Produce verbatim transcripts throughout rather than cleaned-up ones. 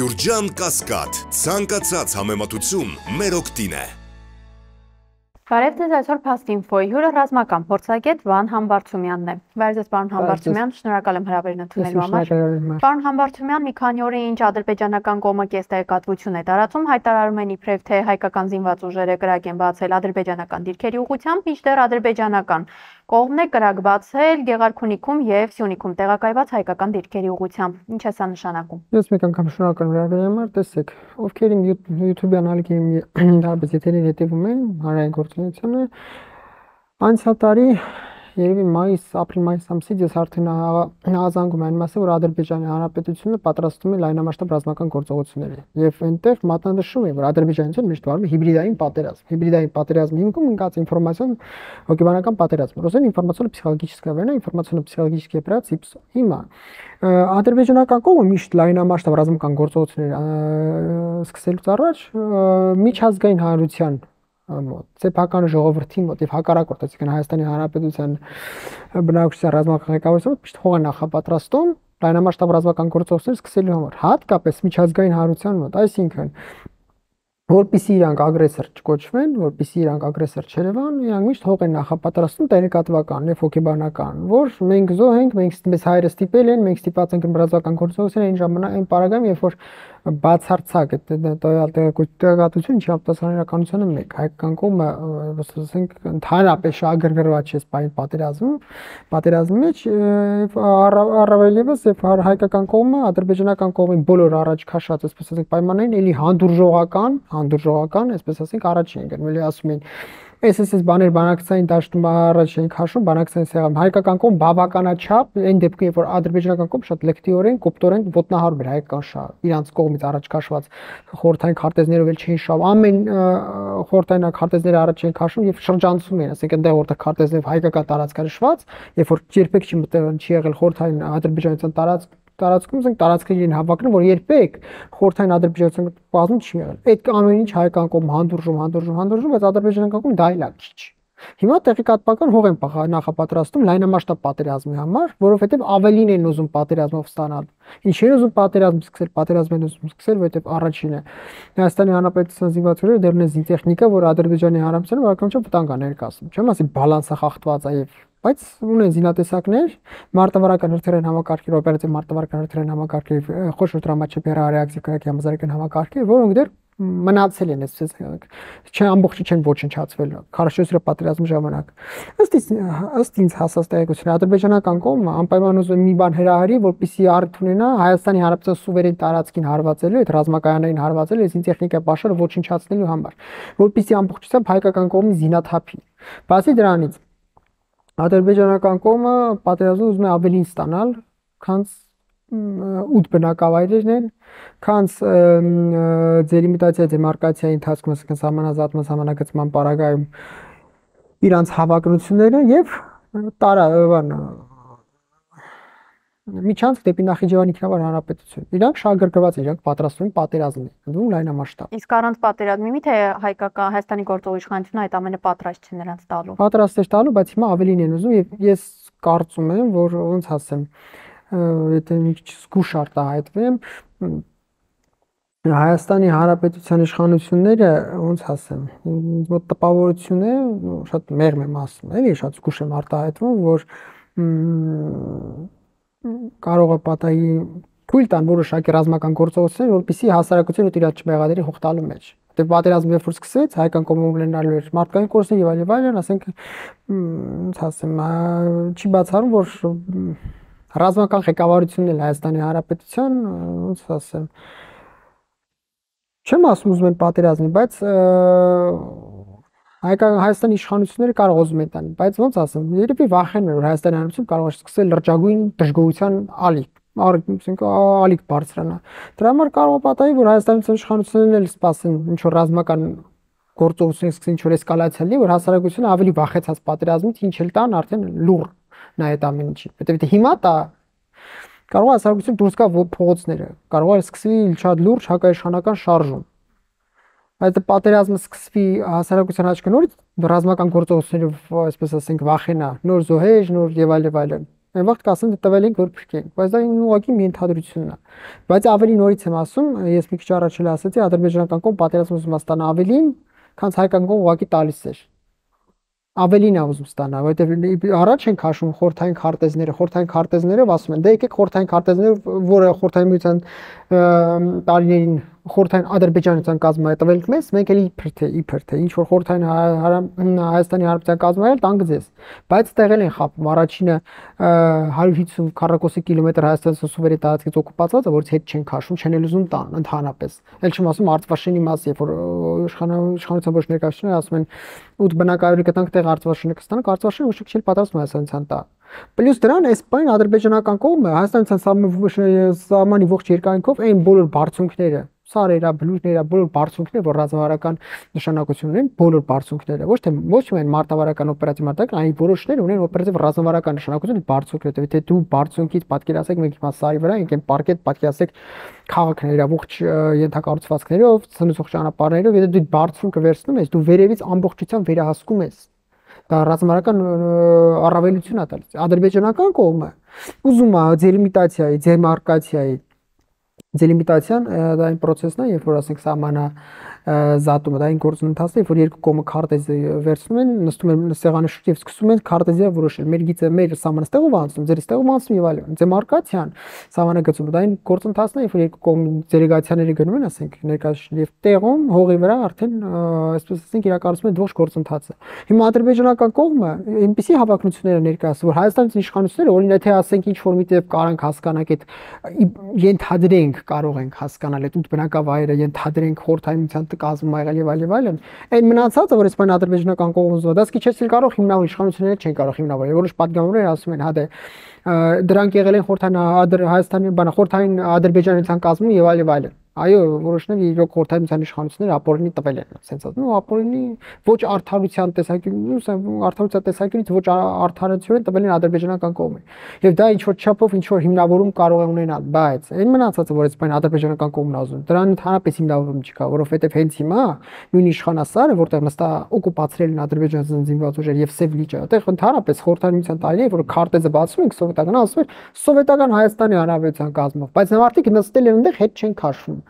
Գյուրջան Կասկադ, ցանկացած համեմատություն մեր օգտին է։ Բարև ձեզ, այսօր Փաստինֆոյի հյուրը ռազմական փորձագետ Վան Համբարձումյանն է։ Բարև ձեզ, պարոն Համբարձումյան, շնորհակալ եմ հրավերն ընդունելու համար։ Պարոն Համբարձումյան, մի քանի օր է ինչ ադրբեջանական կողմը կեստեղեկատվություն է տարածում, հայտարարում են իբրև թե հայկական զինված ուժերը կրակ են բացել ադրբեջանական դիրքերի ուղղությամբ, մինչդեռ ադրբեջանական կողմն է կրակ բացել Գեղարքունիքում եւ Սյունիքում տեղակայված հայկական դիրքերի ուղղությամբ։ Ինչ է սա նշանակում։ Ես մեկ անգամ շնորհակալ եմ հրավերի համար, տեսեք, ովքեր իմ YouTube-յան ալիքին դարձ եթերին հետևում են հանրային գործունեությունը, անցյալ տարի երևի մայիս, ապրիլ-մայիս ամսից ես արդեն ահազանգում եմ այն մասը, որ Ադրբեջանի Հանրապետությունը պատրաստում է լայնամասշտաբ ռազմական գործողությունների եւ այնտեղ մատնանշում է, որ Ադրբեջանցիները միշտ վարում է հիբրիդային պատերազմ։ Հիբրիդային պատերազմի հիմքում ընկած ինֆորմացիոն հոգեբանական պատերազմ։ Ռուսեն ինֆորմացիոնно-психологическая война, ինֆորմացիոնно-психологический операции հիմա ադրբեջանական կողմը միշտ լայնամասշտաբ ռազմական գործողություններ սկսելուց առաջ միջազգային հանրության սեփական ժողովրդի մոտ եւ հակառակորդ, այսինքն Հայաստանի Հանրապետության բնակչության ռազմական ղեկավարությունը միշտ հող է նախապատրաստում լայնամասշտաբ ռազմական գործողություններ սկսելու համար, հատկապես միջազգային հանրության մոտ, այսինքն որպեսզի իրանք ագրեսոր չկոչվեն, որպեսզի իրանք ագրեսոր չերևան, իրանք միշտ հող են նախապատրաստում տեղեկատվական եւ հոգեբանական, որ մենք զոհ ենք, մենք մեզ հայրը ստիպել են, մենք ստիպած ենք ռազմական գործողություններ այն ժամանակ այն պարագայում, երբ որ բացարձակ է տեղեկատվություն չի ապտասանիրականությունը մեկ հայկական կողմը ասենք ընդհանրապես շահագրգռված չէ սպային պատերազմում պատերազմի մեջ առավել եւս եւ հայկական կողմը ադրբեջանական կողմի բոլոր առաջ քաշած այսպես ասենք պայմաններին էլի հանդուրժողական հանդուրժողական այսպես ասենք առաջ են գնում էլի ասում են Այս էս բաներ բանակցային դաշտում առաջ են քաշում բանակցային սեղան հայկական կողմ բավականաչափ այն դեպքում երբ որ ադրբեջանական կողմ շատ լեկտիորեն կոպտորեն ոտնահարում էր հայկական շահը իրանց կողմից առաջ քաշված խորհրդային քարտեզներով էլ չէին շահում ամեն խորհրդային քարտեզները առաջ են քաշում եւ շրջանցում են ասենք այնտեղ որտեղ քարտեզներով հայկական տարածքը նշված երբ որ երբեք չի մտել չի եղել խորհրդային ադրբեջանական տարածք տարածքում ասենք տարածքներին հավակնում որ երբեք խորհրդային ադրբեջանական բազում չի եղել այդ ամեն ինչ հայկական կողմ հանդուրժում հանդուրժում հանդուրժում բայց ադրբեջանական կողմ դա իլա քիչ հիմա տեղեկատվական հող են նախապատրաստում լայնամասշտաբ պատերազմի համար որովհետեւ ավելին են ուզում պատերազմով ստանալ ինչ են ուզում պատերազմ սկսել պատերազմ են ուզում սկսել որովհետեւ առաջինը Հայաստանի Հանրապետության զինված ուժերը դեռ ունեն զինտեխնիկա որ Ադրբեջանի Հանրապետությունը բավականաչափ վտանգ է ներկայացնում չեմ ասի բալանսը խախտված է եւ բայց ունեն զինատեսակներ մարտավարական հրթիռային համակարգեր օպերատիվ մարտավարական հրթիռային համակարգեր խոշոր տրամաչափի ռեակտիվ կայքի համազարգային համակարգեր որոնք դեռ մնացել են այսպես չէ ամբողջը չեն ոչնչացվել քարոշոսի պատերազմի ժամանակ ըստ ըստ ինձ հասած տեղեկության ադրբեջանական կողմը անպայման ուզում է մի բան հրահարի որպեսզի առիթ ունենա Հայաստանի Հանրապետության սուվերեն տարածքին հարվածելու այդ ռազմակայաններին հարվածելու այս ինտեխնիկա պաշարը ոչնչացնելու համար որպեսզի ամբողջությամբ հայկական կողմի զինաթափի բացի դրանից ադրբեջանական կողմը պատերազմում ուզում է ավելին ստանալ քան ութ բնակավայրերն են, քանց ձեր իմիտացիա դեմարկացիայի ընթացքում ասենք սահմանազատման սահմանագծման պարագայում իրանց հավակնությունները եւ տարա բան միջանցք դեպի Նախիջևանի ինքնավար հանրապետություն։ Իրանք շահագրգռված են, իրանք պատրաստվում են պատերազմի, ընդդեմ լայնամասշտաբ։ Իսկ առանց պատերազմի մի թե հայկական Հայաստանի գործող իշխանությունը այդ ամենը պատրաստ չէ նրանց տալու։ Պատրաստ է տալու, բայց հիմա ավելին են ուզում եւ ես կարծում եմ, որ ոնց ասեմ, եթե մի քիչ զգուշ արտահայտվեմ, Հայաստանի Հանրապետության իշխանությունները ոնց ասեմ, մոտ տպավորություն է, շատ մեղմ եմ ասում, էլի շատ զգուշ եմ արտահայտվում, որ կարող է պատահի թույլ տան որոշակի ռազմական գործողություններ, որպեսզի հասարակությունը իրար չմեղադրի հող տալու մեջ։ Դե պատերազմը երբ որ սկսվեց, հայկական կողմը ունենալու էր մարդկային կորստներ եւ այլ եւ այլն, ասենք ոնց ասեմ, չի բացառում, որ ռազմական ղեկավարությունն էլ Հայաստանի Հանրապետության, ոնց ասեմ, չեմ ասում ուզում են պատերազմի, բայց հայկական Հայաստանի իշխանությունները կարող ուզում են տան, բայց ոնց ասեմ, երբ վախենում են, որ Հայաստանի Հանրապետությունը կարող է սկսել լրջագույն դժգոհության ալիք, ասենք ալիք բարձրանա։ Դրա համար կարող է պատահի, որ Հայաստանի իշխանություններն էլ սպասեն ինչ որ ռազմական գործողություններ սկսեն ինչ որ էսկալացիա լինի, որ հասարակությունը ավելի վախեցած պատերազմից ինչ էլ տան արդեն լուր նա այդ ամեն ինչի։ Որտեւ հիմա դա կարող է հասարակություն դուրս գա փողոցները, կարող է սկսվի շատ լուրջ հակաիշխանական շարժում։ Բայց պատերազմը սկսվի հասարակության աչքը նորից ռազմական գործողություններով, այսպես ասենք, վախենա, նոր զոհեր, նոր եւ այլ եւ այլն։ Այն վաղ կասեն դե տվել ենք որ փրկենք, բայց դա ուղղակի մի ընդհանրությունն է։ Բայց ավելի նորից եմ ասում, ես մի քիչ առաջ էլ ասացի, ադրբեջանական կողմ պատերազմը ուզում է ստանալ ավելին, քան հայկական կողմ ուղղակի տալիս էր։ Ավելին է ուզում ստանալ, որովհետև առաջ են քաշում խորթային քարտեզները, խորթային քարտեզներով ասում են, դե եկեք խորթային քարտեզներով, որը խորթային միության տարիներին խորթային Ադրբեջանության կազմը է տվել մեզ, մենք էլ իբր թե իբր թե ինչ որ խորթային Հայաստանի Հանրապետության կազմը էլ տանգ ձեզ, բայց տեղել են խապում առաջինը հարյուր հիսուն քառակուսի կիլոմետր Հայաստանի սուվերեն տարածքից օկուպացված է, որից հետ չեն քաշում, չեն էլ ուզում տան ընդհանրապես։ Էլ չեմ ասում Արցախի մասի, որ իշխանության ոչ ներկայացուցիչները ասում են ութ բնակարանի կտանք տեղ Արցախի կստանանք, Արցախի ոչ չի պատրաստվում Հայաստանցան տա։ Պլյուս դրան այս բան ադրբեջանական կողմը Հայաստանցան սահմանի ողջ երկայնքով այն բոլոր բարձունքները սարերա, բլուրներա, բոլոր բարձունքները, որ ռազմավարական նշանակություն ունեն, բոլոր բարձունքները, ոչ թե ոչ միայն մարտավարական օպերատիվ մարտական, այլ որոշներ ունեն օպերատիվ ռազմավարական նշանակություն բարձունքները, թե դու բարձունքից պատկերացեք մեկ հիմա սարի վրա, եկեն պարկետ պատկերացեք քաղաքները, ողջ ենթակառուցվածքներով, ցնցող ճանապարհներով, եթե դու բարձունքը վերցնում ես, դու վերևից ամբողջությամբ վերահսկում ես։ Դա ռազմավարական առավելություն է տալիս։ Ադրբեջանական կողմը ուզում է դելիմիտացիայի, դեմարկացիայի Դելիմիտացիան դա այն process-ն է, երբ որ ասենք սահմանա զատումը, դա այն գործընթացն է, որ երկու կողմը քարտեզը վերցնում են, նստում են սեղանի շուրջ եւ սկսում են քարտեզը որոշել։ Մեր գիծը մեր սահմանստեղով անցնում, ձեր ստեղով անցնում եւ այլն։ Դեմարկացիան սահմանագծումը դա այն գործընթացն է, երբ որ երկու կողմ դելեգացիաները գնում են, ասենք ներկայացնում եւ տեղում հողի վրա արդեն այսպես ասենք իրականացում են ողջ գործընթացը։ Հիմա ադրբեջանական կողմը այնպիսի հավակնություններ ներկայացնում, որ Հայաստանի իշխանությունները օրինակ թե ասենք ինչ որ միտեղ կարանք հասկանանք այդ ենթադրենք կարող ենք հասկանալ այդ ութ բնակավայրը ենթադրենք խորհրդային կազմում ա եղել եւ այլ եւ այլն այն մնացածը որ այսպես ադրբեջանական կողմը զոհ դա սկիչեցնել կարող հիմնավոր իշխանությունները չեն կարող հիմնավորել որոշ պատգամավորներ ասում են հա դե դրանք եղել են խորհրդային Հայաստանի բանը խորհրդային Ադրբեջանության կազմում եւ այլ եւ այլն այո որոշներ իրոք խորհրդային իշխանությունները ապօրինի տվել են ասենց ասում ու ապօրինի ոչ արդարության տեսակետից արդարության տեսակետից ոչ արդարացիորեն տվել են ադրբեջանական կողմը եւ դա ինչ որ չափով ինչ որ հիմնավորում կարող է ունենալ բայց այն մնացածը որ այսպես ադրբեջանական կողմն ազում դրան ընդհանրապես հիմնավորում չկա որովհետեւ հենց հիմա նույն իշխանասարը որտեղ նստա օկուպացրել են ադրբեջանցի զինված ուժեր եւ սև լիճը այդտեղ ընդհանրապես խորհրդային տարիներ որ քարտեզը բացում ենք սովետական ասում են սովետական Հայաստանի Հանրապետության կազմով բայց մարդիկ նստել են այնտեղ հետ չեն քաշվում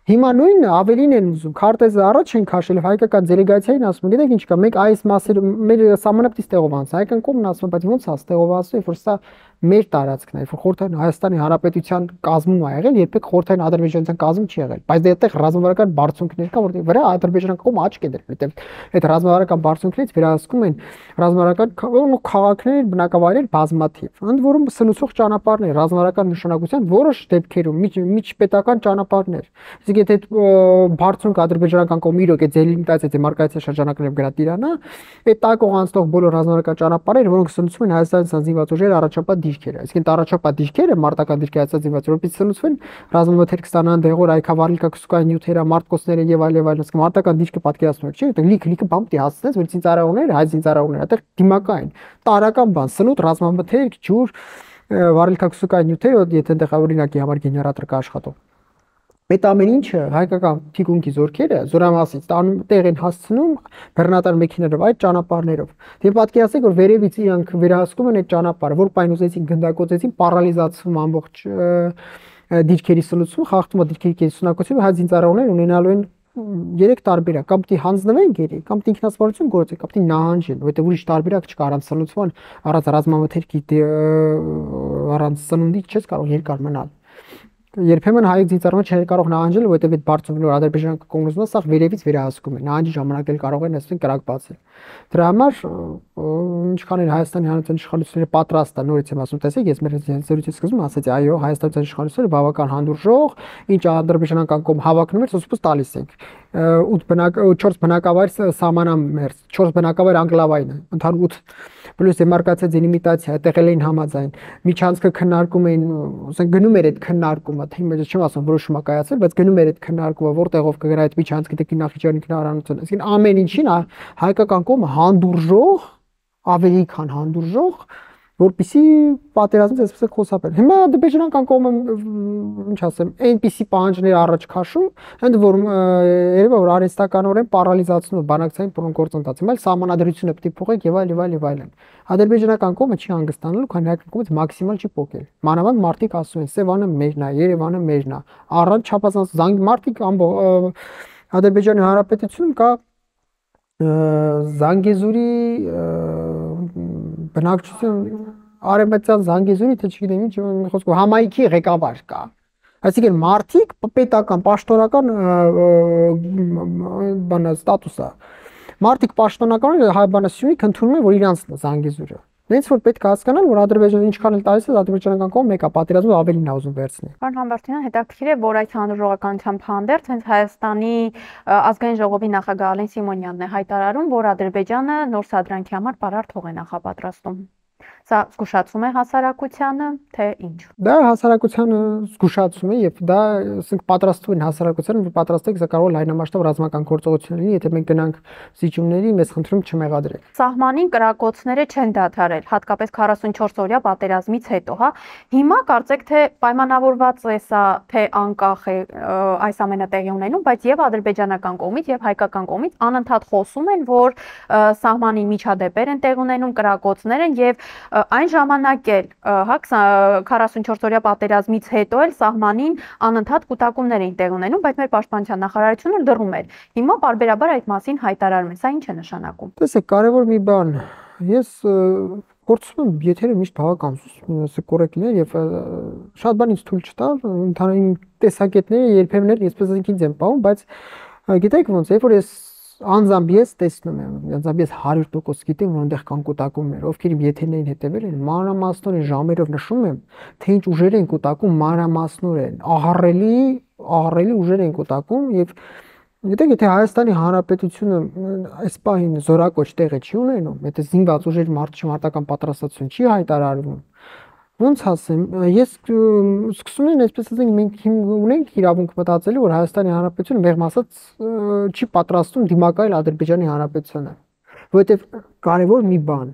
Հիմա նույնը ավելին են ուզում քարտեզը առաջ են քաշել հայկական դելեգացիային ասում գիտեք ինչ կա մենք այս մասերը մեր սահմանապտից տեղով անց հայկական կողմն ասում բայց ոնց է տեղով ասում որ սա մեր տարածքն է որ խորհրդային Հայաստանի Հանրապետության կազմում ա եղել երբեք խորհրդային Ադրբեջանության կազմ չի եղել բայց դե այդտեղ ռազմավարական բարձունքներ կա որտեղ վրա ադրբեջանական կողմը աչք է դրել որտեղ այդ ռազմավարական բարձունքներից վերահսկում են ռազմավարական քաղաքներ բնակավայրեր բազմաթիվ ընդ որում սնուցող ճանապարհներ ռազմավարական նշանակության որոշ դեպքերում միջպետական ճանապարհներ իսկ եթե բարձունք ադրբեջանական կողմը իրոք է դելիմիտացիա դեմարկացիա շրջանակներով գրատիրանա այդ տակող անցնող բոլոր ռազմավարական ճանապարհները որոնք սնուցում են Հայաստանի զինված ուժերը առաջապատ դիրքերը այսինքն առաջապատ դիրքերը մարտական դիրքեր Հայաստանի զինված ուժերից սնուցվում են ռազմամթերք ստանան դեղոր այքավարլիկա քսուկային նյութերը մարտկոսները եւ այլ եւ այլ ասենք մարտական դիրքը պատկերացնում եք չի լիք լիքը բամ պիտի հասցնես որ ցինծառայողները հայ ցինծառայողները այդտեղ դիմակային տարական բան սնուտ ռազմամթերք ջուր վարելիքա քսուկային նյութերը եթե այնտեղ օրինակի համար գեներատոր կա աշխատող Այդ ամեն ինչը հայկական թիկունքի զորքերը զորամասից տեղ են հասցնում բեռնատար մեքենաներով այդ ճանապարհներով։ Դե պատկերացեք որ վերևից իրանք վերահսկում են այդ ճանապարհը, որ պայն ուզեցին գնդակոծեցին, պարալիզացվում ամբողջ դիրքերի սնուցում, խախտում է դիրքերի կենսունակությունը, հայ զինծառայողներ ունենալու են երեք տարբերակ, կամ պիտի հանձնվեն գերի, կամ պիտի ինքնասպառություն գործեն, կամ պիտի նահանջեն, որովհետև ուրիշ տարբերակ չկա առանց սնուցման, առանց ռազմամթերքի առանց սնունդի չես կարող երկար մնալ։ Երբեմն հայ զինծառայողները չեն կարող նահանջել, որովհետև այդ բարձունքները ադրբեջանական կոմունիզմը սա վերևից վերահսկում են։ Նահանջի ժամանակ էլ կարող են ասեն կրակ բացել։ Դրա համար ինչքան են Հայաստանի Հանրապետության իշխանությունները պատրաստ են, նորից եմ ասում, տեսեք, ես մեր զրույցի սկզբում ասացի, այո, Հայաստանի իշխանությունները բավական հանդուրժող, ինչ ադրբեջանական կողմ հավակնում էր, սոսուս տալիս ենք։ ութ բնակ չորս բնակավայր սահմանամերձ, չորս բնակավայր անկլավային է, ընդհանուր ութ պլյուս դեմարկացիա դելիմիտացիա, տեղել էին համաձայն։ Միջանցքը քննարկում էին, ասենք գնում էր այդ քննարկումը, թե իմ չեմ ասում որոշումը կայացել, բայց գնում էր այդ քննարկումը, որտեղով կգրա այդ միջանցքը դեպի Նախիջևանի քննարարությունը։ Այսինքն ամեն ինչին հայկական կողմը հանդուրժող, ավելի քան հանդուրժող որպեսզի պատերազմից այսպես խուսափել։ Հիմա ադրբեջանական կողմը ինչ ասեմ, այնպիսի պահանջներ առաջ քաշում, ընդ որում երևի որ արհեստականորեն պարալիզացնում է բանակցային գործընթացը, այլ սահմանադրությունը պետք է փոխեք եւ այլ եւ այլ եւ այլն։ Ադրբեջանական կողմը չի հանգստանալու, քանի հայկական կողմից մաքսիմալ չի փոխել։ Մանավանդ մարդիկ ասում են, Սևանը մերն է, Երևանը մերն է։ Առանց չափազանց զանգ մարդիկ ամբողջ Ադրբեջանի Հանրապետությունում կա Զանգեզուրի բնակչություն արևմտյան Զանգեզուրի թե չգիտեմ ինչ խոսքով համայնքի ղեկավար կա։ Այսինքն մարդիկ պետական պաշտոնական բանա ստատուս է։ Մարդիկ պաշտոնական հայ բանասյունիք ընդունում են որ իրանց Զանգեզուրը։ Նենց որ պետք է հասկանալ, որ Ադրբեջանը ինչքան էլ տալիս է, ադրբեջանական կողմը մեկա պատերազմը ավելին է ուզում վերցնել։ Պարոն Համբարձումյան, հետաքրքիր է, որ այդ հանրաժողովականությամբ հանդերձ հենց Հայաստանի ազգային ժողովի նախագահ Ալեն Սիմոնյանն է հայտարարում, որ Ադրբեջանը նոր սադրանքի համար պարարտ հող է նախապատրաստում։ Սա զգուշացում է հասարակությանը, թե ինչ։ Դա հասարակությանը զգուշացում է եւ դա ասենք պատրաստում են հասարակությանը, որ պատրաստեք, սա կարող է լայնամասշտաբ ռազմական գործողություն լինի, եթե մենք գնանք զիջումների, մեզ խնդրում չմեղադրեք։ Սահմանին կրակոցները չեն դադարել, հատկապես քառասունչորս օրյա պատերազմից հետո, հա։ Հիմա կարծեք թե պայմանավորված է սա, թե անկախ է այս ամենը տեղի ունենում, բայց եւ ադրբեջանական կողմից եւ հայկական կողմից անընդհատ խոսում են, որ սահմանի միջադեպեր են տեղ ունենում, կրակոցներ են եւ այն ժամանակ էլ, հա, քառասունչորս օրյա պատերազմից հետո էլ սահմանին անընդհատ կուտակումներ էին տեղ ունենում, բայց մեր պաշտպանության նախարարությունը դռում էր։ Հիմա բարբերաբար այդ մասին հայտարարում է։ Սա ինչ է նշանակում։ Տեսեք, կարևոր մի բան, ես փորձում եմ եթերը միշտ բավական կորեկտ լինել եւ շատ բան ինձ թույլ չտալ, ընդհանրին տեսակետները երբեմն այսպես ասենք ինձ եմ պահում, բայց գիտեք ոնց, երբ որ ես անձամբ ես տեսնում եմ, անձամբ ես հարյուր տոկոս գիտեմ, որ այնտեղ կան կուտակումներ, ովքեր իմ եթերներին հետևել են, մանրամասնորեն ժամերով նշում եմ, թե ինչ ուժեր են կուտակում, մանրամասնորեն, ահռելի, ահռելի ուժեր են կուտակում եւ գիտեք, եթե Հայաստանի Հանրապետությունը այս պահին զորակոչ տեղը չի ունենում, եթե զինված ուժեր մարտական պատրաստություն չի հայտարարվում, ոնց ասեմ, ես սկսում եմ այսպես ասենք մենք ունենք իրավունք մտածելու, որ Հայաստանի Հանրապետությունը մեղմ ասած չի պատրաստում դիմակայել Ադրբեջանի Հանրապետությանը, որովհետև կարևոր մի բան,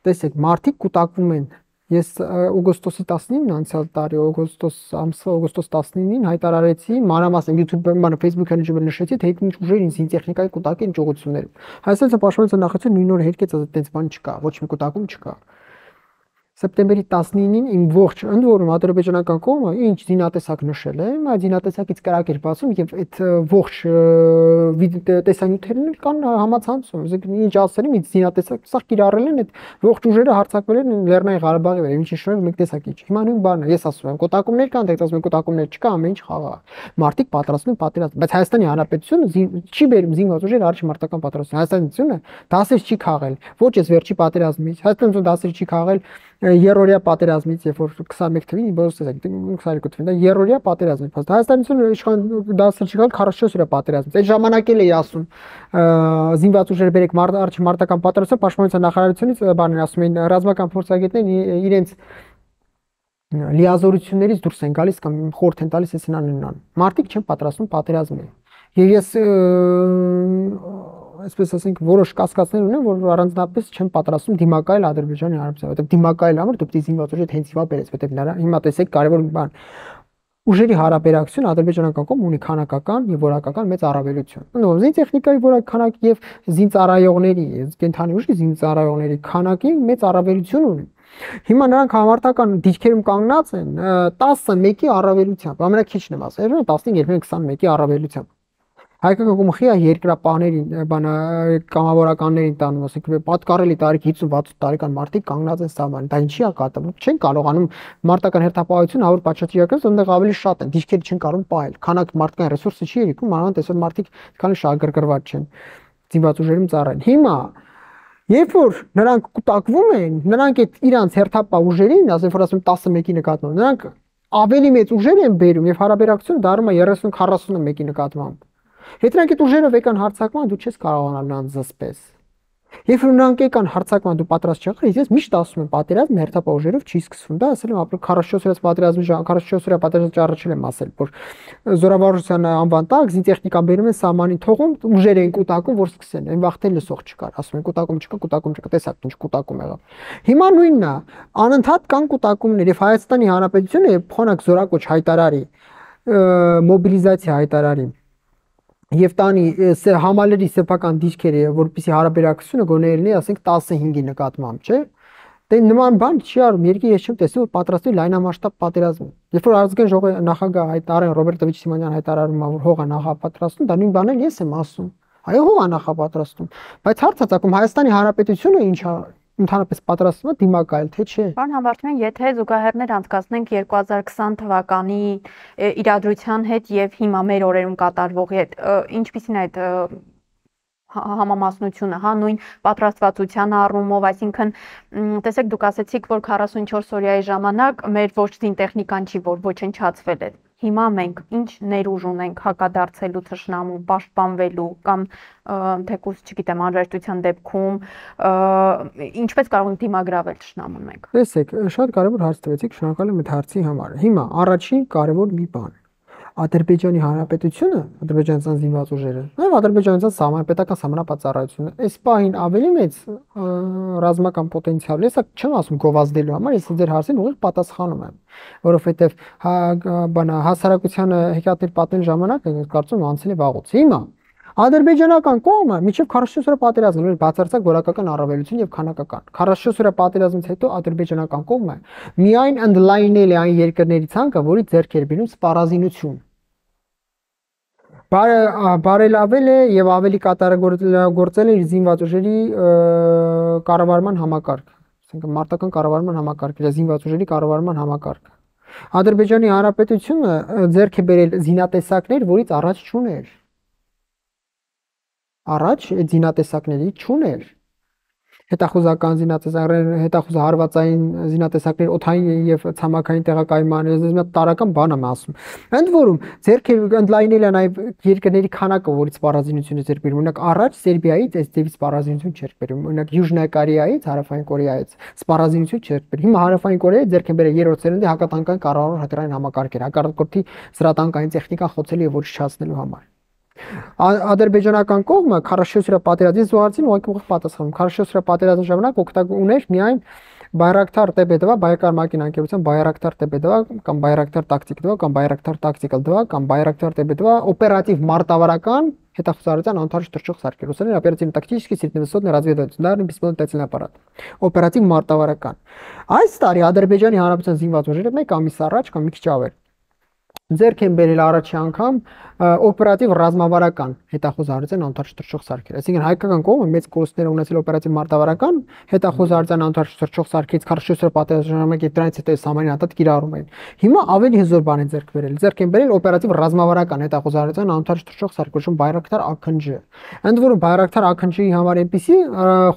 տեսեք, մարդիկ կուտակվում են, ես օգոստոսի տասնինին անցյալ տարի օգոստոս ամսը օգոստոս տասնինին հայտարարեցի, մանրամասն YouTube-ը, մանր Facebook-ը նշեցի, թե ինչ ուժեր ինձ տեխնիկայի կուտակեն ճողություններում։ Հայաստանի պաշտպանության նախարարությունը նույն օրը հերկեց, ասաց, այդպես բան չկա, ոչ մի կուտակում չկա։ Սեպտեմբերի տասնինին իմ ողջ ընդ որում ադրբեջանական կողմը ինչ զինատեսակ նշել է, այդ զինատեսակից կրակ էր բացում եւ այդ ողջ տեսանյութերն կան համացանցում, այսինքն ինչ ասել եմ, ինչ զինատեսակ սա կիրառել են, այդ ողջ ուժերը հարձակվել են Լեռնային Ղարաբաղի վրա, ինչի շնորհիվ մեկ տեսակ ինչ։ Հիմա նույն բանն է, ես ասում եմ, կուտակումներ կան, դեռ ասում եմ կուտակումներ չկա, ամեն ինչ խաղա։ Մարդիկ պատրաստվում են պատերազմ, բայց Հայաստանի Հանրապետությունը չի բերում զինված ուժեր առաջ մարտական պատերազմ։ Հայաստանությունը դասեր չի խաղել, ոչ այս վերջի պատերազմից, Հայաստանը դասեր չի խաղել երրորդյա պատերազմից, երբ որ քսանմեկ թվին բոլորս տեսակ, քսաներկու թվին, դա երրորդյա պատերազմից, բայց Հայաստանությունը իշխան դասեր չի խաղալ քառասունչորս օրյա պատերազմից։ Այդ ժամանակ էլ էի ասում, զինված ուժեր բերեք առաջ մարտական պատերազմը, պաշտպանության նախարարությունից բաներ ասում էին, ռազմական փորձագետներն իրենց լիազորություններից դուրս են գալիս կամ խորհուրդ են տալիս այսին անունան։ Մարդիկ չեն պատրաստվում պատերազմի։ Եվ ես այսպես ասենք որոշ կասկածներ ունեմ, որ առանձնապես չեն պատրաստում դիմակայել Ադրբեջանի Հանրապետությանը, որովհետև դիմակայել համար դու պետք է զինված ուժեր հենց հիմա բերես, որովհետև հիմա տեսեք կարևոր մի բան ուժերի հարաբերակցություն ադրբեջանական կողմը ունի քանակական եւ որակական մեծ առավելություն։ Ուրեմն զին տեխնիկայի որակքանակ եւ զինծառայողների, կենթանի ուժի զինծառայողների քանակի մեծ առավելություն ունի։ Հիմա նրանք համարտական դիրքերում կանգնած են տասնմեկի առավելությամբ, ամենաքիչն եմ ասել, տասնհինգ, երբեմն քսանմեկի առավելությամբ։ Հայկական կողմը խիա երկրապահներին, բանա կամավորականներին տանում, ասենք պատկառելի տարիք հինգ վաթսուն տարեկան մարդիկ կանգնած են սահմանին, դա ինչի է կատարվում, չեն կարողանում մարտական հերթապահություն հավուր պատշաճիական, այնտեղ ավելի շատ են, դիրքերը չեն կարող պահել, քանակ մարդկային ռեսուրսը չի երիքում, մանավանդ այսօր մարդիկ քանի շահագրգռված չեն, զինված ուժերում ծառայեն։ Հիմա երբ որ նրանք կուտակվում են, նրանք այդ իրանց հերթապահ ուժերին, ասենք որ ասում տասնմեկի նկատմամբ, նրանք ավելի մեծ ուժեր են բերում եւ հարաբերակցությունը դառնում է երեսուն քառասունմեկի նկատմամբ։ Եթե նրանք այդ ուժերը վեկան հարձակման, դու չես կարողանալ նրանց զսպես։ Երբ որ նրանք եկան հարցակման դու պատրաստ չեղար, ես միշտ ասում եմ պատերազմը հերթապահ ուժերով չի սկսվում, դա ասել եմ ապրել քառասուն օրյա պատերազմի քառասուն օրյա պատերազմի առաջին եմ ասել, որ զորավարժության անվան տակ զինտեխնիկան բերում են սահմանին թողում, ուժեր են կուտակում, որ սկսեն, այն վաղ թե լսող չկար, ասում են կուտակում չկա, կուտակում չկա, տեսակ ինչ կուտակում եղավ։ Հիմա նույնն է, անընդհատ կան կուտակումներ եւ Հայաստանի Հանրապետությունը փոխանակ զորակոչ հայտարարի, մոբիլիզացիա հայտարարի Եվ տանի համալերի սեփական դիրքերը, որպեսզի հարաբերակցությունը գոնե լինի, ասենք տասնհինգի նկատմամբ, չէ՞։ Դե նման բան չի արվում, երկի ես չեմ տեսել, որ պատրաստի լայնամասշտաբ պատերազմ։ Երբ որ ազգային ժողովի նախագահ հայտարարեն Ռոբերտովիչ Սիմոնյան հայտարարում է, որ հող է նախապատրաստում, դա նույն բանն ես եմ ասում։ Այո, հող է նախապատրաստում։ Բայց հարցը ցակում Հայաստանի Հանրապետությունը ինչ է ընդհանրապես պատրաստվում է դիմակայել, թե չէ։ Պարոն Համբարձումյան, եթե զուգահեռներ անցկացնենք երկու հազար քսան թվականի իրադրության հետ եւ հիմա մեր օրերում կատարվողի հետ, ինչպիսին է այդ համամասնությունը, հա, նույն պատրաստվածության առումով, այսինքն տեսեք դուք ասացիք, որ քառասունչորս օրյայի ժամանակ մեր ոչ զինտեխնիկան չի, որ ոչնչացվել է։ Հիմա մենք ինչ ներուժ ունենք հակադարձելու թշնամուն, պաշտպանվելու կամ թեկուզ, չգիտեմ, անհրաժեշտության դեպքում ինչպես կարող ենք դիմագրավել թշնամուն մենք։ Տեսեք, շատ կարևոր հարց տվեցիք, շնորհակալ եմ այդ հարցի համար։ Հիմա առաջին կարևոր մի բան Ադրբեջանի Հանրապետությունը, Ադրբեջանցան զինված ուժերը, նաև Ադրբեջանցան սահմանապետական սահմանապատասխանությունը, այս պահին ավելի մեծ ռազմական պոտենցիալ է, սա չեմ ասում գովազդելու համար, ես ձեր հարցին ուղիղ պատասխանում եմ, որովհետև բանա հասարակությանը հեքիաթներ պատմել ժամանակ կարծում անցել է վաղուց։ Հիմա Ադրբեջանական կողմը միջև քառասուն օրյա պատերազմն էր բացարձակ որակական առավելություն եւ քանակական։ քառասուն օրյա պատերազմից հետո ադրբեջանական կողմը միայն ընդլայնել է այն երկրների ցանկը, որի ձեռք էր բերում սպառազինություն։ Բարելավել է եւ ավելի կատարագործել է իր զինված ուժերի կառավարման համակարգ, ասենք մարտական կառավարման համակարգը, զինված ուժերի կառավարման համակարգը։ Ադրբեջանի Հանրապետությունը ձեռք է բերել զինատեսակներ, որից առաջ չուներ։ Առաջ այդ զինատեսակների չուներ։ Հետախուզական զինատեսակներ, հետախուզ հարվածային զինատեսակներ, օդային եւ ցամաքային տեղակայման, ես մի տարական բան եմ ասում։ Ընդ որում, ձեռք ընդլայնել է նաեւ երկրների քանակը, որից սպառազինությունը ձեռք բերում։ Օրինակ, առաջ Սերբիայից այս ձևի սպառազինություն չէր բերում։ Օրինակ, Յուժնա Կորեայից, Հարավային Կորեայից սպառազինություն չէր բերում։ Հիմա Հարավային Կորեայի ձեռք են բերել երրորդ սերնդի հակատանկային կառավարող հրթիռային համակարգեր, հակառակորդի զրատանկային տեխնիկան խոցելի եւ ոչ չհասնելու համար։ Ադրբեջանական կողմը քառասուն օրյա պատերազմից զուգահեռ ուղղակի ուղիղ պատասխանում։ քառասուն օրյա պատերազմի ժամանակ օգտագործում ուներ միայն Բայրակտար Տե Բե դվա, Բայկար մակին անկերության Բայրակտար Տե Բե դվա կամ Բայրակտար տակտիկ դվա կամ Բայրակտար տակտիկալ դվա կամ Բայրակտար Տե Բե դվա օպերատիվ մարտավարական հետախուզարարության անթարժ թռչող սարքեր, ուսանեն օպերատիվ-տակտический средневысотный разведывательный беспилотный ապարատ։ Օպերատիվ մարտավարական։ Այս տարի Ադրբեջանի Հանրապետության զինված ուժերը մեկ ամիս առաջ կամ մի քիչ ավել ձեռք են բերել առաջի անգամ օպերատիվ ռազմավարական հետախուզարարության անթարժ թռչող սարքեր։ Այսինքն հայկական կողմը մեծ կորուստներ ունեցել օպերատիվ մարտավարական հետախուզարարության անթարժ թռչող սարքից քառասուն օրյա պատերազմի ժամանակ դրանից հետո սահմանին հատած կիրառում էին։ Հիմա ավելի հզոր բան են ձեռք բերել։ Ձեռք են բերել օպերատիվ ռազմավարական հետախուզարարության անթարժ թռչող սարք, որը Բայրակտար Ա Քն Ջ։ Ընդ որում Բայրակտար Ա Քն Ջ-ի համար այնպիսի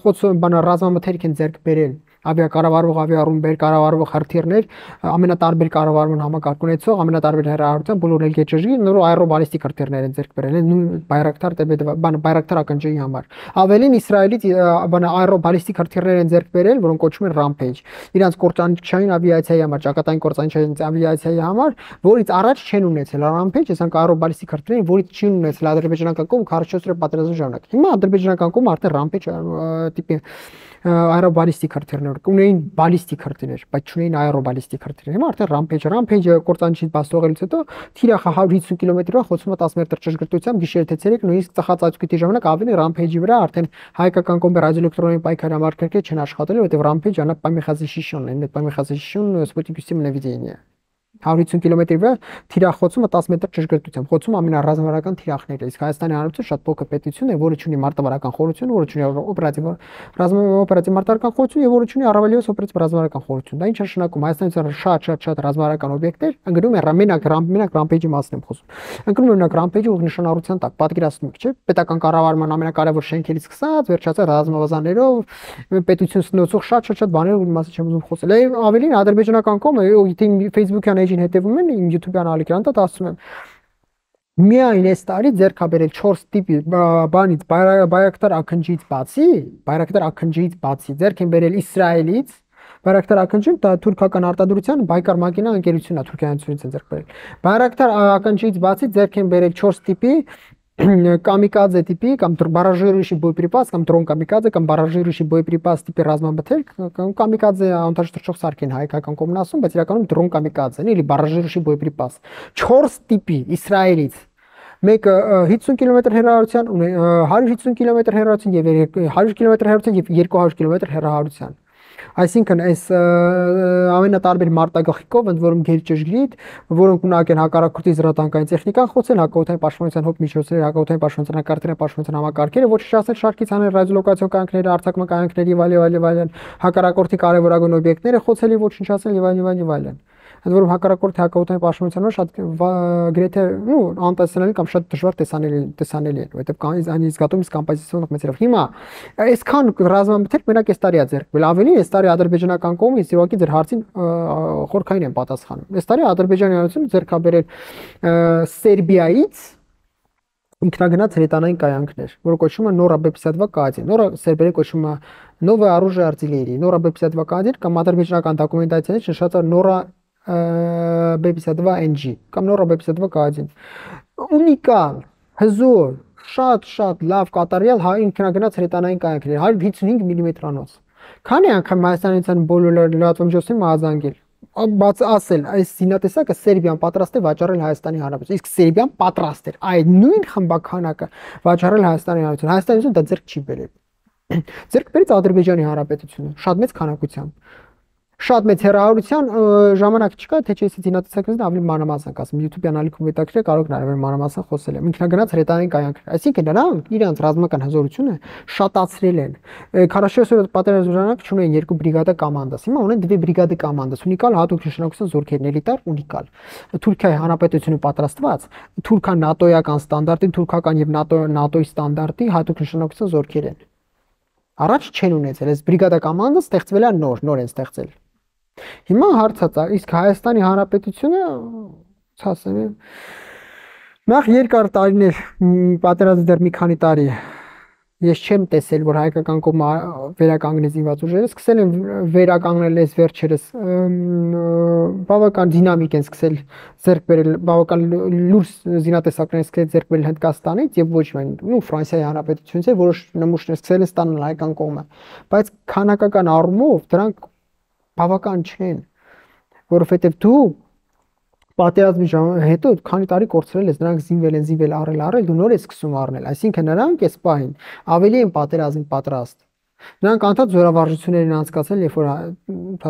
խոցը բան ռազմամթերք են ձեռք բերել ավիակառավարող, ավիառումբեր, կառավարող հրթիռներ, ամենատարբեր կառավարման համակարգ ունեցող, ամենատարբեր հեռահարության բոլոր ելքեջրի նոր աերոբալիստիկ հրթիռներ են ձեռք բերել, նույն Բայրակտար Տե Բե դվա, բան Բայրակտար Ա Քն Ջ-ի համար։ Ավելին Իսրայելից բան աերոբալիստիկ հրթիռներ են ձեռք բերել, որոնք կոչվում են Rampage։ Իրանց կործանիչային ավիացիայի համար, ճակատային կործանիչային ավիացիայի համար, որից առաջ չեն ունեցել Rampage, այսինքն աերոբալիստիկ հրթիռներ, որից չի ունեցել ադրբեջանական կողմը քառասուն օրյա պատերազմի ժամանակ։ Հիմա ադրբեջանական կողմը արդեն Rampage տիպի aerobalistic հրթիռներ ունեին բալիստիկ հրթիռներ, բայց չունեին aerobalistic հրթիռներ։ Հիմա արդեն Rampage, Rampage-ը կործանիչից բացողելուց հետո թիրախը հարյուր հիսուն կիլոմետրով խոցում է տասը մետր ճշգրտությամբ գիշեր թե ցերեկ, նույնիսկ ծխած աչքույթի ժամանակ ավելի Rampage-ի վրա արդեն հայկական կողմը ռադիոէլեկտրոնային պայքարի համակարգեր չեն աշխատել, որովհետև Rampage-ը նա պայմեխազիշիон է, պայմեխազիշիон Sputnik-ը նավիգացիա հարյուր հիսուն կիլոմետրի վրա թիրախոցումը տասը մետր ճշգրտությամբ, խոցում ամենառազմավարական թիրախները։ Իսկ Հայաստանի Հանրապետությունը շատ փոքր պետություն է, որը ունի մարտավարական խորհրդություն, որը ունի օպերատիվ ռազմավարական մարտավարական խորհրդություն եւ որը ունի առավելիոս օպերատիվ ռազմավարական խորհրդություն։ Դա ինչ է նշանակում Հայաստանից շատ շատ շատ ռազմավարական օբյեկտներ, ընկնում են մենակ մենակ Rampage-ի մասն եմ խոսում։ Ընկնում են մենակ Rampage-ի ուղղ նշանառության տակ, պատկերացնում եք, չէ՞, պետական կառավարման ամենակարևոր շենքերից սկսած, վերջացած ռազմավազաններով, պետություն սնոցող շատ-շատ-շատ բաներ, ուրի մասը չեմ ուզում խոսել։ Ավելին ադրբեջանական կողմը, եթե Facebook-յան էջին հետևում են, իմ YouTube-յան ալիքրանտը ասում եմ Միայն այս տարի ձեռք ա բերել չորս տիպի բանից բայրակտար ակնջից բացի, բայրակտար ակնջից բացի ձեռք են բերել Իսրայելից, Բայրակտար ակնջին դա թուրքական արտադրության Բայկար մակինա ընկերությունն է Թուրքիայից են ձեռք բերել։ Բայրակտար ակնջից բացի ձեռք են բերել չորս տիպի կամիկադзе տիպի կամ բարաժիրուշի боеприпас կամ դրոն կամիկադзе կամ բարաժիրուշի боеприпас տիպի ռազմամթերք կամ կամիկադзе անտաշտրճող սարք են հայկական կողմն ասում, բայց իրականում դրոն կամիկադզեն, էլի բարաժիրուշի боеприпас չորս տիպի Իսրայելից մեկը հիսուն կիլոմետր հեռավորության, հարյուր հիսուն կիլոմետր հեռավորության եւ հարյուր կիլոմետր հեռավորության եւ երկու հարյուր կիլոմետր հեռավորության։ Այսինքն այս ամենատարբեր մարտագաղթիկով ընդ որում գերճշգրիտ, որոնք ունակ են հակառակորդի զրատանկային տեխնիկան խոցել, հակաօդային պաշտպանության հոբ միջոցները, հակաօդային պաշտպանության կարգերը, պաշտպանության համակարգերը, ոչ շահել շարքից հանել ռադիոլոկացիոն կայանքները, արձակման կայանքները եւ այլ եւ այլ, հակառակորդի կարեւորագույն օբյեկտները խոցել եւ ոչնչացնել եւ այլ եւ այլ եւ այլն։ Ընդ որում հակառակորդի հակաօդային պաշտպանությունը շատ գրեթե ու անտեսանելի կամ շատ դժվար տեսանելի տեսանելի է, որովհետեւ այն զգատումից կոմպոզիցիոնով մեծերով։ Հիմա այսքան ռազմամթերք մենակ այս տարի է ձեռք բերել, ավելի այս տարի ադրբեջանական կողմից իհարկե ձեր հարցին խորքային են պատասխանում։ Այս տարի ադրբեջանյանությունը ձեռք ա բերել Սերբիայից ինքնագնաց հրետանային կայանքներ, որը կոչվում է Նորա Բե պятьдесят два К один, Նորա սերբերեն կոչվում է Новое оружие артиллерии, Նորա Բե պятьдесят два К один կամ ադրբեջանական դոկումենտացիայից նշած է Նորա Բե պятьдесят два Н G կամ Նորա Բե պятьдесят два К один։ Ունիկալ, հզոր, շատ-շատ լավ կատարյալ հայ ինքնագնաց հրետանային կայանքներ, հարյուր հիսունհինգ միլիմետրանոց։ Քանի անգամ Հայաստանից բոլոր լրատվամիջոցին մազանգել բաց ասել այս զինատեսակը Սերբիան պատրաստ է վաճառել Հայաստանի Հանրապետություն, իսկ Սերբիան պատրաստ էր այդ նույն խմբականակը վաճառել Հայաստանի Հանրապետություն։ Հայաստանից դա ձեռք չի բերել։ Ձեռք բերեց Ադրբեջանի Հանրապետությունը շատ մեծ քանակությամբ։ Շատ մեծ հեռավորության ժամանակ չկա, թե չէ զինատեսակներից ավելի մանրամասն կասեմ, YouTube-յան ալիքում հետաքրքիր կարող եք նաև մանրամասն խոսել եմ։ Ինքնագնաց հրետանային կայանքներ, այսինքն նրանք իրենց ռազմական հզորությունը շատացրել են։ քառասուն օրը պատերազմի ժամանակ չունեն երկու բրիգադա կոմանդաս, հիմա ունեն դվե բրիգադա կոմանդաս, ունիկալ հատուկ նշանակության զորքերն էլիտար ունիկալ։ Թուրքիայի Հանրապետությունը պատրաստված, թուրքական նատոյական ստանդարտի, թուրքական եւ նատո նատոյի ստանդարտի հատուկ նշանակության զորքեր են։ Առաջ չեն ունեցել, այս բրիգադա կոմանդը ստեղծվել է նոր, նոր են ստեղծել։ Հիմա հարցած է, իսկ Հայաստանի Հանրապետությունը, ասեմ, նախ երկար տարիներ պատերազմի դեռ մի քանի տարի ես չեմ տեսել, որ հայկական կողմը վերականգնեց զինված ուժերը, սկսել են վերականգնել այս վերջերս բավական դինամիկ են սկսել ձեռք բերել, բավական լուրջ զինատեսակներ սկսել ձեռք բերել Հնդկաստանից եւ ոչ միայն, ու Ֆրանսիայի Հանրապետությունից, որոշ նմուշներ սկսել են ստանալ հայկական կողմը, բայց քանակական առումով դրանք բավական չեն, որովհետև դու պատերազմի հետո քանի տարի կորցրել ես, նրանք զինվել են, զինվել առել, առել, դու նոր ես սկսում առնել, այսինքն նրանք այս պահին ավելի են պատերազմին պատրաստ։ Նրանք անդադ զորավարժություններ են անցկացել, երբ որ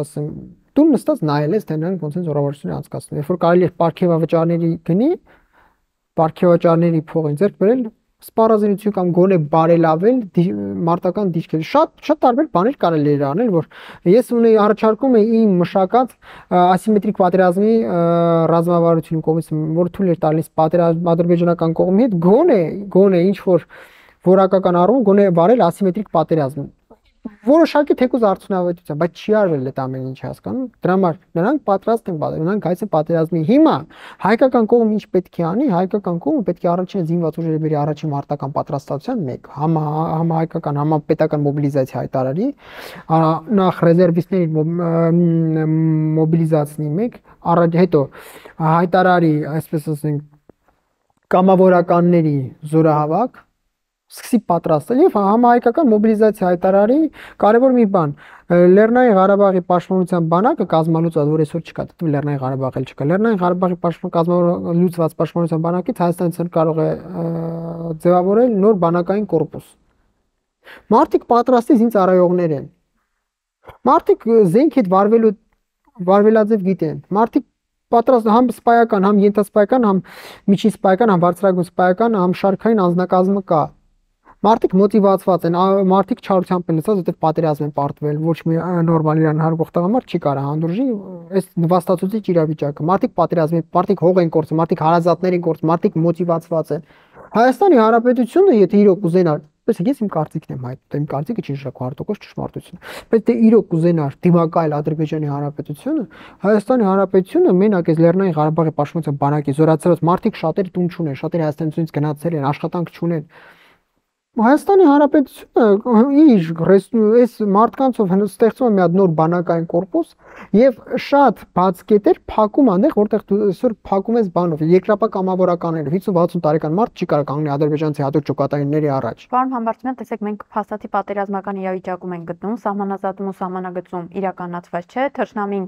ասեմ, դու նստած նայել ես, թե նրանք ոնց են զորավարժություններ անցկացնում, երբ որ կարելի է պարգևավճարների գնի, պարգևավճարների փող են ձեռք բերել սպառազինություն կամ գոնե բարելավել մարտական դիրքերը։ Շատ շատ տարբեր բաներ կարելի է անել, որ ես ունեի առաջարկում եմ իմ մշակած ասիմետրիկ պատերազմի ռազմավարությունը կողմից, որ թույլ էր տալիս պատերազմ ադրբեջանական կողմի հետ գոնե գոնե ինչ որ որակական առումով գոնե վարել ասիմետրիկ պատերազմ։ Որոշակի թեկուզ արդյունավետության, բայց չի արվել այդ ամեն ինչ հասկանում։ Դրա համար նրանք պատրաստ են պատերազմի, նրանք հայց են պատերազմի։ Հիմա հայկական կողմը ինչ պետք է անի, հայկական կողմը պետք է առաջին զինված ուժերը բերի առաջին մարտական պատրաստության մեկ, համահայկական, համապետական մոբիլիզացիա հայտարարի, նախ ռեզերվիստների մոբիլիզացնի մեկ, առաջ հետո հայտարարի, այսպես ասենք, կամավորականների զորահավաք սկսի պատրաստել եւ համահայկական մոբիլիզացիա հայտարարի կարևոր մի բան Լեռնային Ղարաբաղի պաշտպանության բանակը կազմալուծած որ այսօր չկա, դու Լեռնային Ղարաբաղել չկա, Լեռնային Ղարաբաղի պաշտպան կազմալուծված պաշտպանության բանակից Հայաստանից կարող է ձևավորել նոր բանակային կորպուս։ Մարտիկ պատրաստի զինծառայողներ են։ Մարտիկ զենք հետ վարվելու վարվելաձև գիտեն։ Մարտիկ պատրաստ համ սպայական, համ ենթասպայական, համ միջին սպայական, համ բարձրագույն սպայական, համ շարքային անձնակազմը կա։ Մարդիկ մոտիվացված են, մարդիկ չարությամբ են լսած, որտեղ պատերազմ են պարտվել, ոչ մի նորմալ իրան հարգող տղամարդ չի կարող հանդուրժի այս նվաստացուցիչ իրավիճակը։ Մարդիկ պատերազմ են, մարդիկ հող են կորցնում, մարդիկ հարազատներ են կորցնում, մարդիկ մոտիվացված են։ Հայաստանի Հանրապետությունը, եթե իրոք ուզենար Տեսեք, ես իմ կարծիքն եմ հայտնում, իմ կարծիքը չի շա հազար տոկոս ճշմարտություն։ Բայց դե իրոք կուզենար դիմակայել Ադրբեջանի Հանրապետությունը, Հայաստանի Հանրապետությունը մենակ այս Լեռնային Ղարաբաղի պաշտպանության բանակի զորացած մարդիկ շատերը տուն չունեն, շատերը Հայաստանից գնացել են, աշխատանք չունեն։ Հայաստանի Հանրապետությունը իր այս մարդկանցով ստեղծում է մի հատ նոր բանակային կորպուս եւ շատ բաց կետեր փակում անեղ, որտեղ դու այսօր փակում ես բանով, երկրապահ կամավորականները, հինգ վաթսուն տարեկան մարդ չի կարող կանգնել ադրբեջանցի հատուկ ճոկատայինների առաջ։ Պարոն Համբարձումյան, տեսեք, մենք փաստացի պատերազմական իրավիճակում ենք գտնում, սահմանազատում ու սահմանագծում իրականացված չէ, թշնամին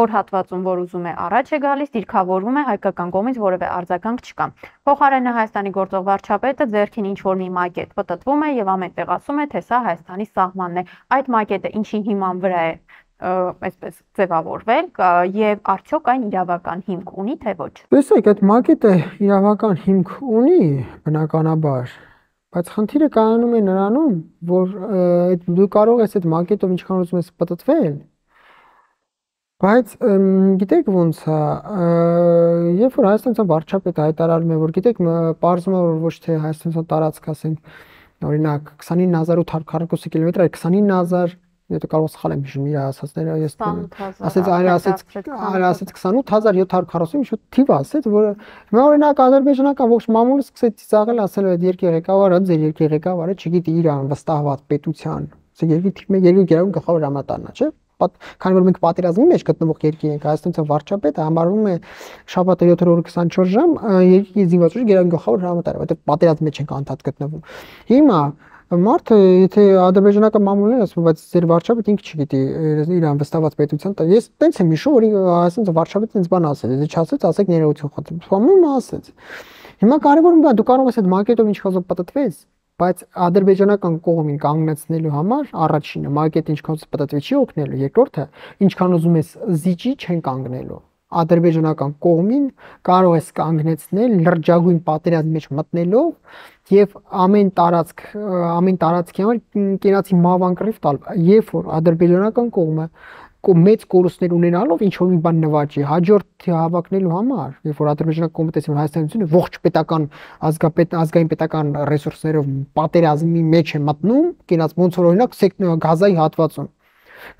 որ հատվածում որ ուզում է առաջ է գալիս, դիրքավորվում է, հայկական կողմից որևէ արձագանք չկա։ Փոխարենը Հայաստանի գործող վարչապետը ձեռքին ինչ որ մի մակետ պտտվում է եւ ամենտեղ ասում է, թե սա Հայաստանի սահմանն է։ Այդ մակետը ինչի հիման վրա է այսպես ձևավորվել եւ արդյոք այն իրավական հիմք ունի թե ոչ։ Տեսեք, այդ մակետը իրավական հիմք ունի բնականաբար, բայց խնդիրը կայանում է նրանում, որ դու կարող ես այդ մակետով ինչքան ուզում ես պտտվել, բայց գիտեք ոնց է, երբ որ Հայաստանյան վարչապետը հայտարարում է, որ գիտեք, պարզվում է, որ ոչ թե Հայաստանյան տարածք, ասենք, օրինակ քսանինը հազար ութ հարյուր քառակուսի կիլոմետր, այլ քսանինը հազար, եթե կարող սխալ եմ հիշում իր ասածները, ես ասեց, այլ ասեց, այլ ասեց քսանութ հազար յոթ հարյուր քառասուն, ինչ-որ թիվ ասեց, որը հիմա օրինակ ադրբեջանական ողջ մամուլը սկսեց ծիծաղել, ասել այդ երկրի ղեկավարը, ձեր երկրի ղեկավարը, չգիտի իր անվստահված պետության, ասեք երկրի թիմը երկրի գերագույն գլխավոր հրամանատարն է, չէ՞։ Քանի որ մենք պատերազմի մեջ գտնվող երկրի ենք, Հայաստանյան վարչապետը համարվում է շաբաթը յոթ օրը քսանչորս ժամ երկրի զինված ուժի գերագույն գլխավոր հրամանտար, որտեղ պատերազմի մեջ ենք անդադ գտնվում։ Հիմա մարդը, եթե ադրբեջանական մամուլն է ասում, բայց ձեր վարչապետը ինքը չգիտի իր անվստահված պետության, ես տենց եմ հիշում, որ Հայաստանյան վարչապետը ինձ բան ասել, եթե չասեց, ասեք ներողություն խնդրում։ Ֆամում ասեց։ Հիմա կարևորը դա դու կարող ես այդ մակետով ինչքան պատտվես, բայց ադրբեջանական կողմին կանգնեցնելու համար առաջինը մակետը ինչքան պատտվի չի օգնելու, երկրորդը ինչքան ուզում ես զիջի չեն կանգնելու։ Ադրբեջանական կողմին կարող ես կանգնեցնել լրջագույն պատերազմի մեջ մտնելով եւ ամեն տարածք ամեն տարածքի համար կենացի մավան կռիվ տալ, երբ որ ադրբեջանական կողմը մեծ կորուստներ ունենալով ինչ որ մի բան նվաճի հաջորդ հավաքնելու համար, երբ որ ադրբեջանական կողմը տեսնում Հայաստանությունը ողջ պետական ազգապետ ազգային պետական ռեսուրսներով պատերազմի մեջ է մտնում, կենաց ոնց որ օրինակ Գազայի հատվածում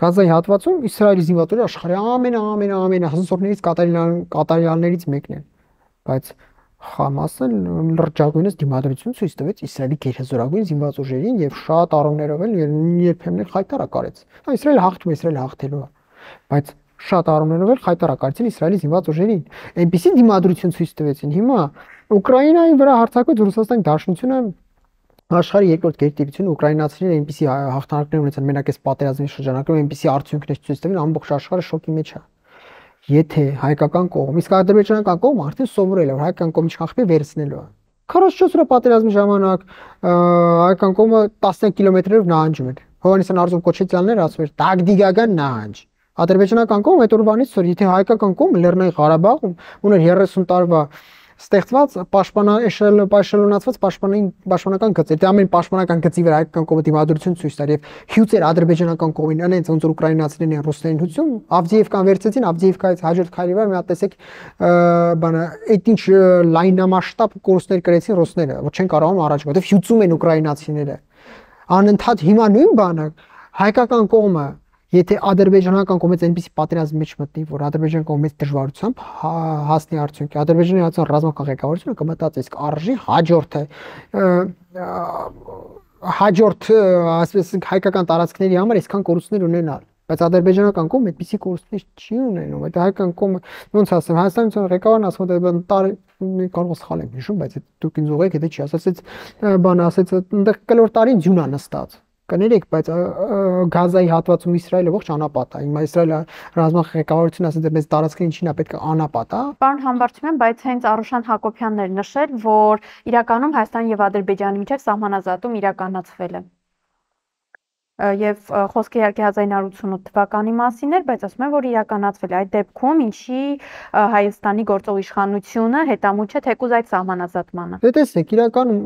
Գազայի հատվածում Իսրայելի զինված ուժերը աշխարհի ամեն ամեն ամեն հզորներից կատարյալներից մեկն են, բայց Համասը լրջագույնս դիմադրություն ցույց տվեց Իսրայելի գերհզորագույն զինված ուժերին եւ շատ առումներով էլ երբեմն խայտարակարեց։ Իսրայելը հաղթում է, Իսրայելը հաղթելու է, բայց շատ առումներով էլ խայտարակարեցին Իսրայելի զինված ուժերին։ Այնպիսի դիմադրություն ցույց տվեցին։ Հիմա Ուկրաինայի վրա հարձակվեց Ռուսաստանի Դաշնությունը, աշխարհի երկրորդ գերտերությունը ուկրաինացիները այնպիսի հաղթանակներ ունեցան մենակ այս պատերազմի շրջանակում, այնպիսի արդյունքներ ցույց տվին, ամբողջ աշխարհը շոկի մեջ է։ Եթե հայկական կողմ, իսկ ադրբեջանական կողմը արդեն սովորել է, որ հայկական կողմը չխախտի վերցնելու է։ քառասունչորս օրյա պատերազմի ժամանակ հայկական կողմը տասնյակ կիլոմետրերով նահանջում էր։ Հովհաննիսյան Արզում Քոչեթյանները ասում էր տակտիկական նահանջ։ Ադրբեջանական կողմը այդ օրվանից որ եթե հայկական կողմը Լեռնային Ղարաբաղում ուներ երեսուն տարվա ստեղծված պաշտպանաշրջանացված պաշտպանային պաշտպանական գծեր, դա ամեն պաշտպանական գծի վրա հայկական կողմը դիմադրություն ցույց տար եւ հյուծեր ադրբեջանական կողմին, այնց ոնց որ ուկրաինացիներն են ռուսներին հյուսում, Ավդիևկան վերցեցին, Ավդիևկայից հաջորդ քայլի վրա մի հատ տեսեք բանը, այդ ինչ լայնամասշտաբ կորուստներ կրեցին ռուսները, որ չեն կարողանում առաջ գալ, որովհետեւ հյուծում են ուկրաինացիները։ Անընդհատ հիմա նույն բանը հայկական կողմը Եթե ադրբեջանական կողմից այնպիսի պատերազմի մեջ մտնի, որ ադրբեջանական կողմից դժվարությամբ հասնի արդյունքի, ադրբեջանի հանրության ռազմական ղեկավարությունը կմտածի, իսկ արժի հաջորդը հաջորդ, ասես հայկական տարածքների համար այսքան կորուստներ ունենալ, բայց ադրբեջանական կողմը այդպիսի կորուստներ չի ունենում, այդ հայկական կողմը ոնց ասեմ, Հայաստանյան ղեկավարն ասում է տարի կարող սխալ եմ հիշում, բայց դուք ինձ ուղղեք, եթե չի ասած, բան ասեց, այնտեղ կլոր տարին ձյուն է նստած Կներեք, բայց Գազայի հատվածում Իսրայելը ողջ անապատ է։ Հիմա Իսրայելը ռազմական ղեկավարությունը ասել է, մեծ տարածքին ինչին է պետք է անապատ է։ Պարոն Համբարձումյան, բայց հենց Արուշան Հակոբյանն էր նշել, որ իրականում Հայաստանի եւ Ադրբեջանի միջև սահմանազատում իրականացվել է։ Եվ խոսքը իհարկե հազար իննսուն ութ թվականի մասին էր, բայց ասում են, որ իրականացվել է այդ դեպքում, ինչի Հայաստանի գործող իշխանությունը հետամուտ չէ թեկուզ այդ սահմանազատմանը։ Դե տեսեք, իրականում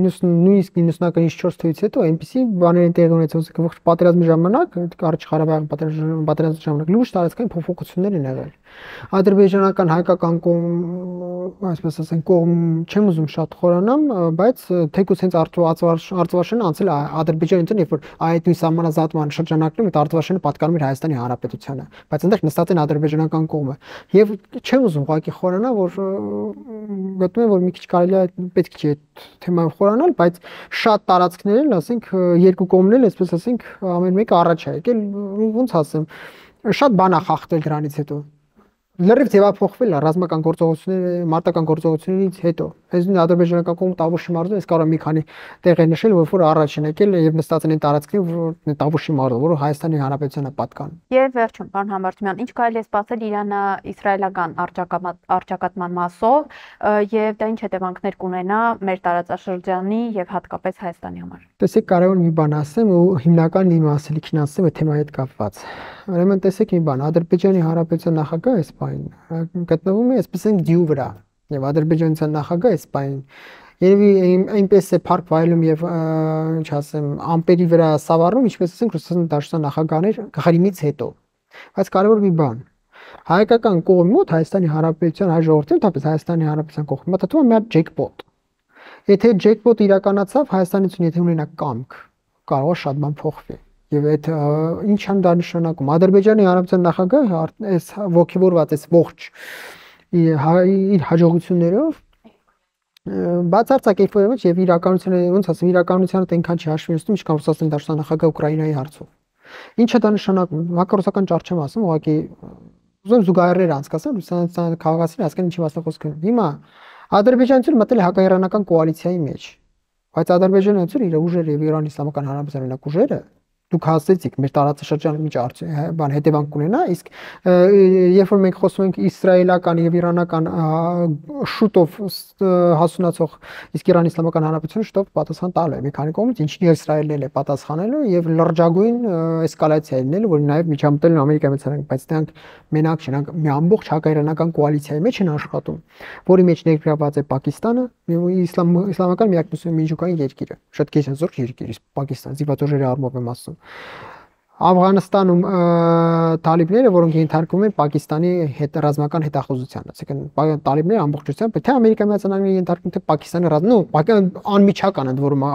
նույնիսկ իննսունական չորս թվականից հետո այնպիսի բաներ են տեղի ունեցել, ողջ պատերազմի ժամանակ, Կարճ Ղարաբաղի պատերազմի ժամանակ լուրջ տարածքային փոփոխություններ են եղել։ Ադրբեջանական հայկական կողմ, այսպես ասենք, կողմ չեմ ուզում շատ խորանամ, բայց թեկուզ հենց Արտվաշենը անցել է Ադրբեջանից, երբ որ այդ նույն սահմանազատման շրջանակներում այդ Արտվաշենը պատկանում էր Հայաստանի Հանրապետությանը, բայց այնտեղ նստած են ադրբեջանական կողմը։ Եվ չեմ ուզում ուղղակի խորանալ, որ գտնում եմ, որ մի քիչ կարելի է պետք չէ այդ թեմայով խորանալ, բայց շատ տարածքներն, ասենք, երկու կողմն էլ, այսպես ասենք, ամեն մեկը առաջ է եկել, ոնց ասեմ, շատ բան է խախտել դրանից հետո։ Լրիվ ձևափոխվել է ռազմական գործողությունների, մարտական գործողություններից հետո։ Այս նույն ադրբեջանական կողմը Տավուշի մարզում ես կարող մի քանի տեղ է նշել, որ որ առաջ են եկել եւ նստած են տարածքին, որ Տավուշի մարզը, որը Հայաստանի Հանրապետությանը պատկանում։ Եվ վերջում, պարոն Համբարձումյան, ինչ կարելի է սպասել Իրանը-իսրայելական առճակատման մասով եւ դա ինչ հետևանքներ կունենա մեր տարածաշրջանի եւ հատկապես Հայաստանի համար։ Տեսեք, կարևոր մի բան ասեմ ու հիմնական իմ ասելիքն ասեմ այդ թեմայի հետ կապված։ Ուրեմն տեսեք մի բան, Ադրբեջանի Հանրապետության նախագահը այս պահին գտնվում է, այսպես են դյու վրա, եւ Ադրբեջանության նախագահը այս պահին երևի այնպես է փառք վայելում եւ ինչ ասեմ, ամպերի վրա սավառնում, ինչպես ասենք Ռուսաստանի Դաշնության նախագահներ Ղրիմից հետո։ Բայց կարևոր մի բան, հայկական կողմի մոտ Հայաստանի Հանրապետության հայ ժողովրդի, ընդհանրապես Հայաստանի Հանրապետության կողմի մոտ դու մի հատ ջեկպոտ։ Եթե ջեկպոտը իրականացավ, Հայաստանից եթե ունենա կամք, կարող է շատ բան փոխվի։ Եվ այդ ինչ են դա նշանակում։ Ադրբեջանի Հանրապետության նախագահը այս ողջավորված այս ողջ իր հաջողություններով բացարձակ էֆոյով եւ իրականությունը ոնց ասեմ, իրականությունը այնքան չի հաշվի նստում, ինչքան Ռուսաստանի Դաշնության նախագահը Ուկրաինայի հարցով։ Ինչ է դա նշանակում։ Հակառուսական ճառ չեմ ասում, ուղղակի ուզում զուգահեռներ անցկացնել Ռուսաստանի քաղաքացիները հասկանան ինչի մասը խոսք է։ Հիմա Ադրբեջանությունը մտել է հակաիրանական կոալիցիայի մեջ, բայց Ադրբեջանությունը իր ուժերը եւ Իրանի Իսլամական Հանրապետության օրինակ ուժերը դուք հասցեցիք մեր տարածաշրջանը մի բան հետևանք կունենա, իսկ երբ որ մենք խոսում ենք իսրայելական եւ իրանական շուտով հասունացող, իսկ Իրանի Իսլամական Հանրապետությունը շուտով պատասխան տալու է մի քանի կողմից, ինչին Իսրայելն էլ է պատասխանելու եւ լրջագույն էսկալացիա լինելու, որ նաեւ միջամտել են Ամերիկայի մեծարան, բայց դրանք մենակ չեն, մի ամբողջ հակաիրանական կոալիցիայի մեջ են աշխատում, որի մեջ ներգրավված է Պակիստանը, իսլամ իսլամական միակ միջուկային երկիրը, շատ կեսազորք երկիր, իսկ Պակիստանը զիվատորների առումով եմ ասում։ Աֆղանստանում տալիբները, որոնք ենթարկվում են Պակիստանի հետ ռազմական հետախուզությանը, այսինքն տալիբները ամբողջությամբ, թե Ամերիկայի Միացյալ Նահանգները ենթարկվում, թե Պակիստանի ռազմ, նո, անմիջական ընդ որում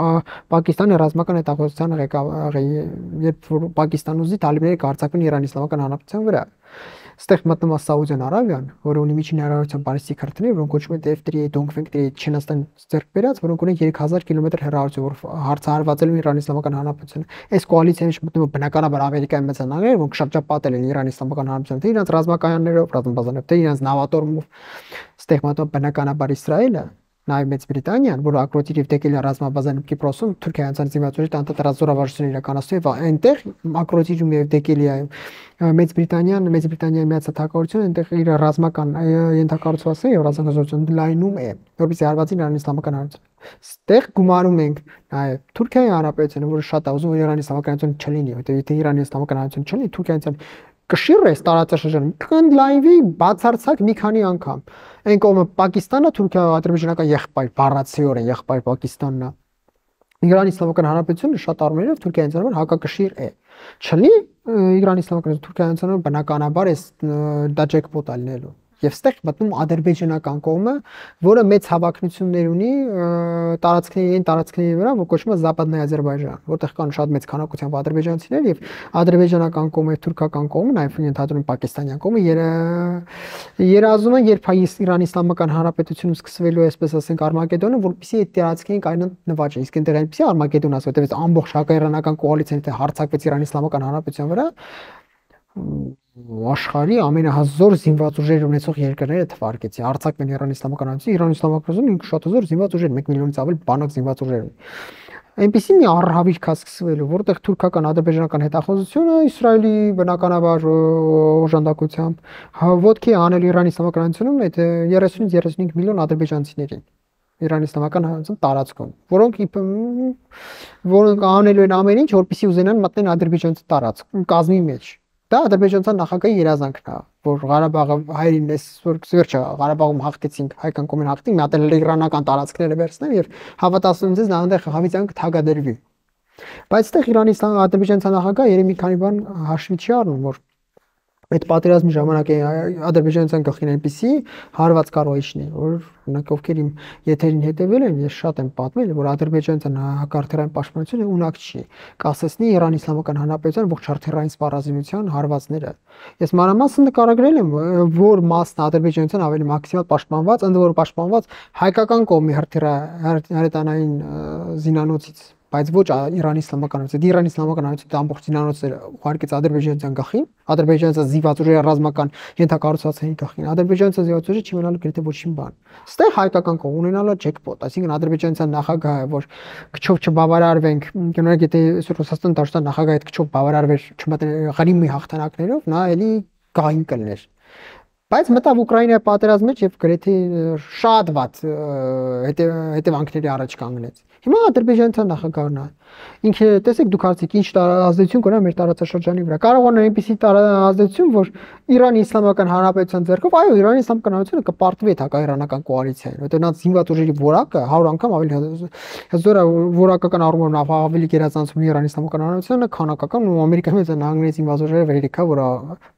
Պակիստանի ռազմական հետախուզության ղեկավարը, երբ որ Պակիստան ուզի տալիբները կհարձակվեն Իրանի Իսլամական Հանրապետության վրա։ Ստեղ մտնում է Սաուդյան Արաբիան, որը ունի միջին հեռավորության բալիստիկ քրթիռներ, որոնք կոչվում են F three Dongfeng three Չինաստան ձեռք բերած, որոնք ունեն երեք հազար կիլոմետր հեռավորություն, որ հարձակվելու են Իրանի Իսլամական Հանրապետությանը։ Այս կոալիցիայի մեջ մտնում է բնականաբար Ամերիկայի մեծ նահանգները, որոնք շրջապատել են Իրանի Իսլամական Հանրապետությանը, թե իրենց ռազմականներով, ռազմաբազաներով, թե իրենց նավատորմով։ Ստեղ մտնում բնականաբար Իսրայելը, նաև Մեծ Բրիտանիան, որը ակրոտիր եւ դեկել է ռազմաբազան Կիպրոսում, Թուրքիայից զինվորների տանտարած զորավարժություն իրականացնում եւ այնտեղ ակրոտիրում եւ դեկելիայում Մեծ Բրիտանիան, Մեծ Բրիտանիայի միացած հակառակությունը այնտեղ իր ռազմական ենթակառուցվածքը եւ ռազմական լայնում է, որովհետեւ հարվածին Իրանի Իսլամական Հանրապետություն։ Ստեղ գումարում ենք նաև Թուրքիայի Հանրապետությունը, որը շատ է ուզում որ Իրանի Իսլամական Հանրապետություն չլինի, որովհետեւ եթե Իրանի Իսլամական Հանրապետություն չլինի, Թուրքիան կշիռ է տարածաշրջանում, կընդլայնվի բացարձակ մի քանի անգամ։ Այն կողմը Պակիստանը, Թուրքիա, ադրբեջանական եղբայր, բառացիորեն եղբայր Պակիստանն է։ Իրանի Իսլամական Հանրապետությունը շատ առումներով Թուրքիայից համար հակակշիռ է։ Չլի Իրանի Իսլամական Թուրքիայից բնականաբար է դա ջեկպոտ ալնելու։ Եվ ստեղ մտնում ադրբեջանական կողմը, որը մեծ հավակնություններ ունի տարածքների այն տարածքների վրա, որ կոչվում է Զապադնայ Ադրբեջան, որտեղ կան շատ մեծ քանակությամբ ադրբեջանցիներ եւ ադրբեջանական կողմը, թուրքական կողմը, նաեւ ենթադրում պակիստանյան կողմը երազում են, երբ Իրանի Իսլամական Հանրապետությունում սկսվելու է, այսպես ասենք, Արմագեդոնը, որպեսզի այդ տարածքին կայնան նվաճը, իսկ այնտեղ այնպեսի Արմագեդոն ասած, որտեղ ամբողջ հակաիրանական կոալիցիան թե հարձակվեց Իրանի Իսլամական Հանրապետության վրա, աշխարհի ամենահզոր զինված ուժեր ունեցող երկրները թվարկեցի, արձակվեն Իրանի Իսլամական Հանրապետություն, Իրանի Իսլամական Հանրապետությունը շատ հզոր զինված ուժեր, մեկ միլիոնից ավել բանակ զինված ուժեր ունի։ Այնպեսի մի առհավիր կա սկսվելու, որտեղ թուրքական ադրբեջանական հետախուզությունը Իսրայելի բնականաբար օժանդակությամբ ոտքի անել Իրանի Իսլամական Հանրապետությունում այդ երեսունից երեսունհինգ միլիոն ադրբեջանցիներին Իրանի Իսլամական Հանրապետության տարածքում, որոնք որոնք անելու են ամեն ինչ, որպեսզի ուզենան մտնել ադրբեջանցի տարածք կազմի մեջ։ Դա ադրբեջանցիական նախագահի երազանքն է, որ Ղարաբաղը հայերին էս որ վերջը Ղարաբաղում հաղթեցինք, հայկական կողմին հաղթին, մատել իրանական տարածքները վերցնեն եւ հավատացնում ձեզ նա այնտեղ հավիտյանք թագադրվի։ Բայց այդտեղ Իրանի Ադրբեջանցիական նախագահը երևի մի քանի բան հաշվի չի առնում, որ Այդ պատերազմի ժամանակ ադրբեջանցիական գլխին այնպեսի հարված կարող է իջնել, որ օրինակ ովքեր իմ եթերին հետևել են, ես շատ եմ պատմել, որ ադրբեջանցիական հակարթերային պաշտպանությունը ունակ չի, կասեցնի Իրանի Իսլամական Հանրապետության ողջ հարթերային սպառազինության հարվածները։ Ես մանրամասն նկարագրել եմ, որ մասն ադրբեջանցիական ավելի մաքսիմալ պաշտպանված, ընդ որում պաշտպանված հայկական կողմի հրթիռահրետանային զինանոցից, բայց ոչ Իրանի Իսլամական Հանրապետության։ Իրանի Իսլամական Հանրապետության ամբողջ զինանոցները ուղարկեց ադրբեջանցիական գլխին, ադրբեջանցիական զինված ուժերի ռազմական ենթակառուցվածքների գլխին։ Ադրբեջանցիական զինված ուժերը չի մնալու գրեթե ոչինչ բան։ Ստեղ հայկական կողմ ունենալու է ջեքպոտ, այսինքն ադրբեջանցիական նախագահը, որ քչով չբավարարվենք, կներեք, եթե Ռուսաստան Դաշնության նախագահը այդ քչով բավարարվեր Ղարիմի հաղթանակներով, նա էլի գահին կլներ։ Բայց մտավ Ուկրաինայի պատերազմի մեջ եւ գրեթե շատ վատ հետևանքների առաջ կանգնեց։ Հիմա ադրբեջանցիական նախագահն է։ Ինքը տեսեք դուք հարցիք ինչ ազդեցություն կունենա մեր տարածաշրջանի վրա։ Կարող է այնպեսի ազդեցություն, որ Իրանի Իսլամական Հանրապետության ձեռքով, այո, Իրանի Իսլամական Հանրապետությունը կպարտվի այդ հակաիրանական կոալիցիային, որտեղ նա զինված ուժերի որակը հարյուր անգամ ավելի հզոր է որակական առումով ավելի գերազանցում Իրանի Իսլամական Հանրապետությանը, քանակական ու Ամերիկայի մեծ նահանգների զինված ուժերը վերիկա, որ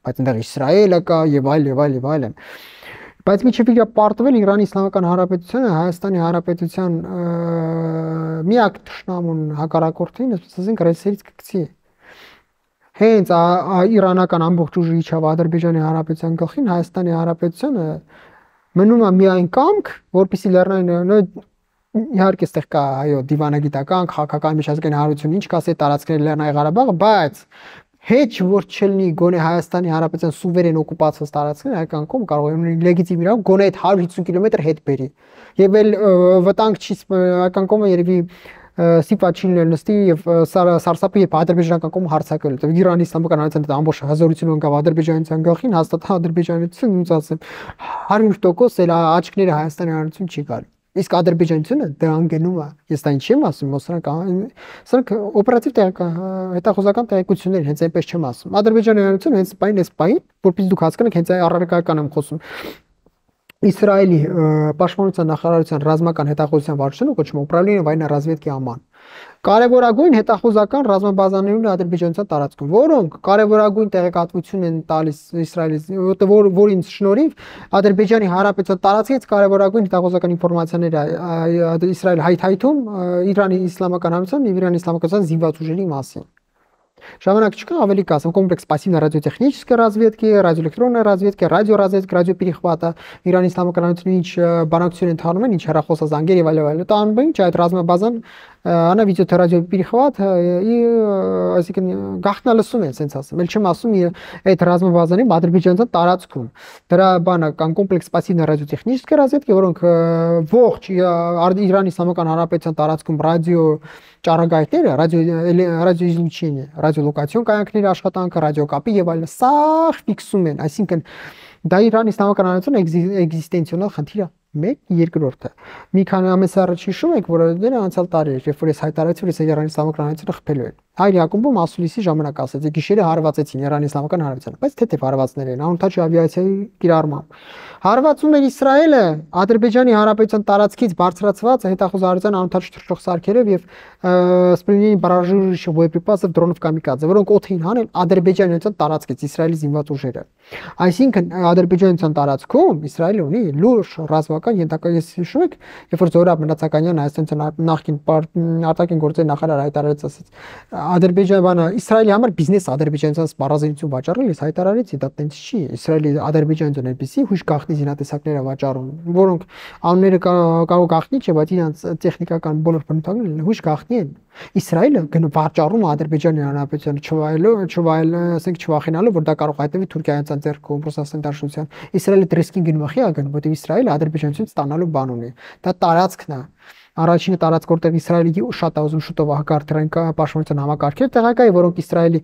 բայց այնտեղ Իսրայելը կա եւ այլ եւ այլ եւ այլն։ Բայց միջև իր պարտվել Իրանի Իսլամական Հանրապետությունը Հայաստանի Հանրապետության միակ թշնամուն հակառակորդին, ասենք ռեսերից կգցի։ Հենց իրանական ամբողջ ուժը իջավ Ադրբեջանի Հանրապետության գլխին, Հայաստանի Հանրապետությունը մնում է միայն կամք, որպեսզի լեռնային իհարկե այստեղ կա այո դիվանագիտական, քաղաքական միջազգային հարություն, ինչ կասի տարածքների Լեռնային Ղարաբաղը, բայց Heç որ չլինի գոնե Հայաստանի Հանրապետության սուվերեն օկուպացված տարածքները հայկական կողմը կարող է ունենալ լեգիտիմ իրավունք գոնե այդ հարյուր հիսուն կիլոմետր հետ բերի։ Եվ էլ վտանգ չի հայկական կողմը երևի սիպա չի լինել նստի եւ սարսափի եւ ադրբեջանական կողմը հարցակել։ Որտեղ Իրանի Իսլամական Հանրապետության ամբողջ հզորությունը ունկավ ադրբեջանցիական գլխին, հաստատ ադրբեջանցիությունը ոնց ասեմ հարյուր տոկոս էլ աչքները Հայաստանի Հանրապետություն չի գալի։ Իսկ ադրբեջանցիությունը դրան գնում է։ Ես դա ինչ եմ ասում, սրանք սրանք օպերատիվ հետախուզական տեղեկություններ, հենց այնպես չեմ ասում։ Ադրբեջանի հանրությունը հենց պայն էս պայն, որպես դուք հասկանաք, հենց առարկայական եմ խոսում։ Իսրայելի պաշտպանության նախարարության ռազմական հետախուզության վարչությունը կոչվում է Управление военной разведки Աման։ Կարևորագույն հետախուզական ռազմաբազաներն են ադրբեջանցիական տարածքում, որոնք կարևորագույն տեղեկատվություն են տալիս Իսրայելից, որ որին շնորհիվ Ադրբեջանի Հանրապետության տարածքից կարևորագույն հետախուզական ինֆորմացիաները Իսրայել հայթայթում Իրանի Իսլամական Հանրապետության եւ Իրանի Իսլամական զինված ուժերի մասին։ Ժամանակ չկա, ավելի կասեմ, комплекс пассивной радиотехнической разведки, радиоэлектронной разведки, радиоразведка, радиоперехвата, Իրանի Իսլամական Հանրապետությունի ինչ բանակցություն ընթանում են, ինչ հեռախոսազանգեր եւ այլ այլ։ Դա անում են, այդ ռազմաբազան Она ведет радиоперехват и, այսինքն գաղտնալսում են, ասենց ասեմ։ Էլ չեմ ասում այդ ռազմաբազանի ադրբեջանցիական տարածքում։ Դրա բանը կան կոմպլեքս пассивной радиотехнической разведки, որոնք ողջ Իրանի Իսլամական Հանրապետության տարածքում ռադիո ճառագայթները, ռադիո ռադիոիզլուչение, ռադիոլոկացիոն կայանքների աշխատանքը, ռադիոկապի եւ այլն, սա ֆիքսում են, այսինքն դա Իրանի Իսլամական Հանրապետության էգզիստենցիոնալ խնդիր է։ Մեկ երկրորդը մի քանի ամիս առաջ հիշում եք, որ դեռ անցյալ տարի էր, երբ որ ես հայտարարեցի, որ ես Իրանի Իսլամական Հանրապետությունը խփելու եմ։ Հայր Յակոբում ասուլիսի ժամանակ ասեցի, գիշերը հարվածեցին Իրանի Իսլամական Հանրապետությանը, բայց թեթև հարվածներ են, անօթաչ ավիացիայի կիրառմամբ։ Հարվածում էր Իսրայելը Ադրբեջանի Հանրապետության տարածքից բարձրացված հետախուզարարության անօթաչ թռչող սարքերով եւ սպրինի բարաժուրիշ боеприпасов դրոնով կամիկադзе, որոնք օդին հանել Ադրբեջանյան տարածքից Իսրայելի զինված ուժերը։ Այսինքն Ադրբեջանյան տարածքում Իսրայելը ունի լուրջ ռազմական ենթակա, ես հիշում եք, երբ որ Զորաբ Մնացականյան Հայաստանյան նախկին արտաքին գործերի նախարար հայտարարեց, ասեց Ադրբեջանը Իսրայելի համար բիզնես ադրբեջանցիական սպառազինություն վաճառել, ես հայտարարեցի, դա տենց չի։ Իսրայելի ադրբեջանցիան այնպեսի հույժ գաղտնի զինատեսակներ է վաճառում, որոնք անունները կարող գաղտնի չէ, բայց իրենց տեխնիկական բոլոր բնութագրերը հույժ գաղտնի են։ Իսրայելը վաճառում է Ադրբեջանի Հանրապետությանը չվայելը, չվայելը, ասենք չվախենալու, որ դա կարող հայտնվի Թուրքիայից ձեռքում, Ռուսաստանի Դաշնության։ Իսրայելը դրեսկին գնում է խիա գնում, որտեղ Իսրայելը ադրբեջանցիից ստանալու բան ունի։ Դա տարածքն է։ Առաջինը տարածք, որտեղ Իսրայելի շատ է ուզում շուտով հակարդային պաշտպանության համակարգեր տեղակայ, որոնք Իսրայելի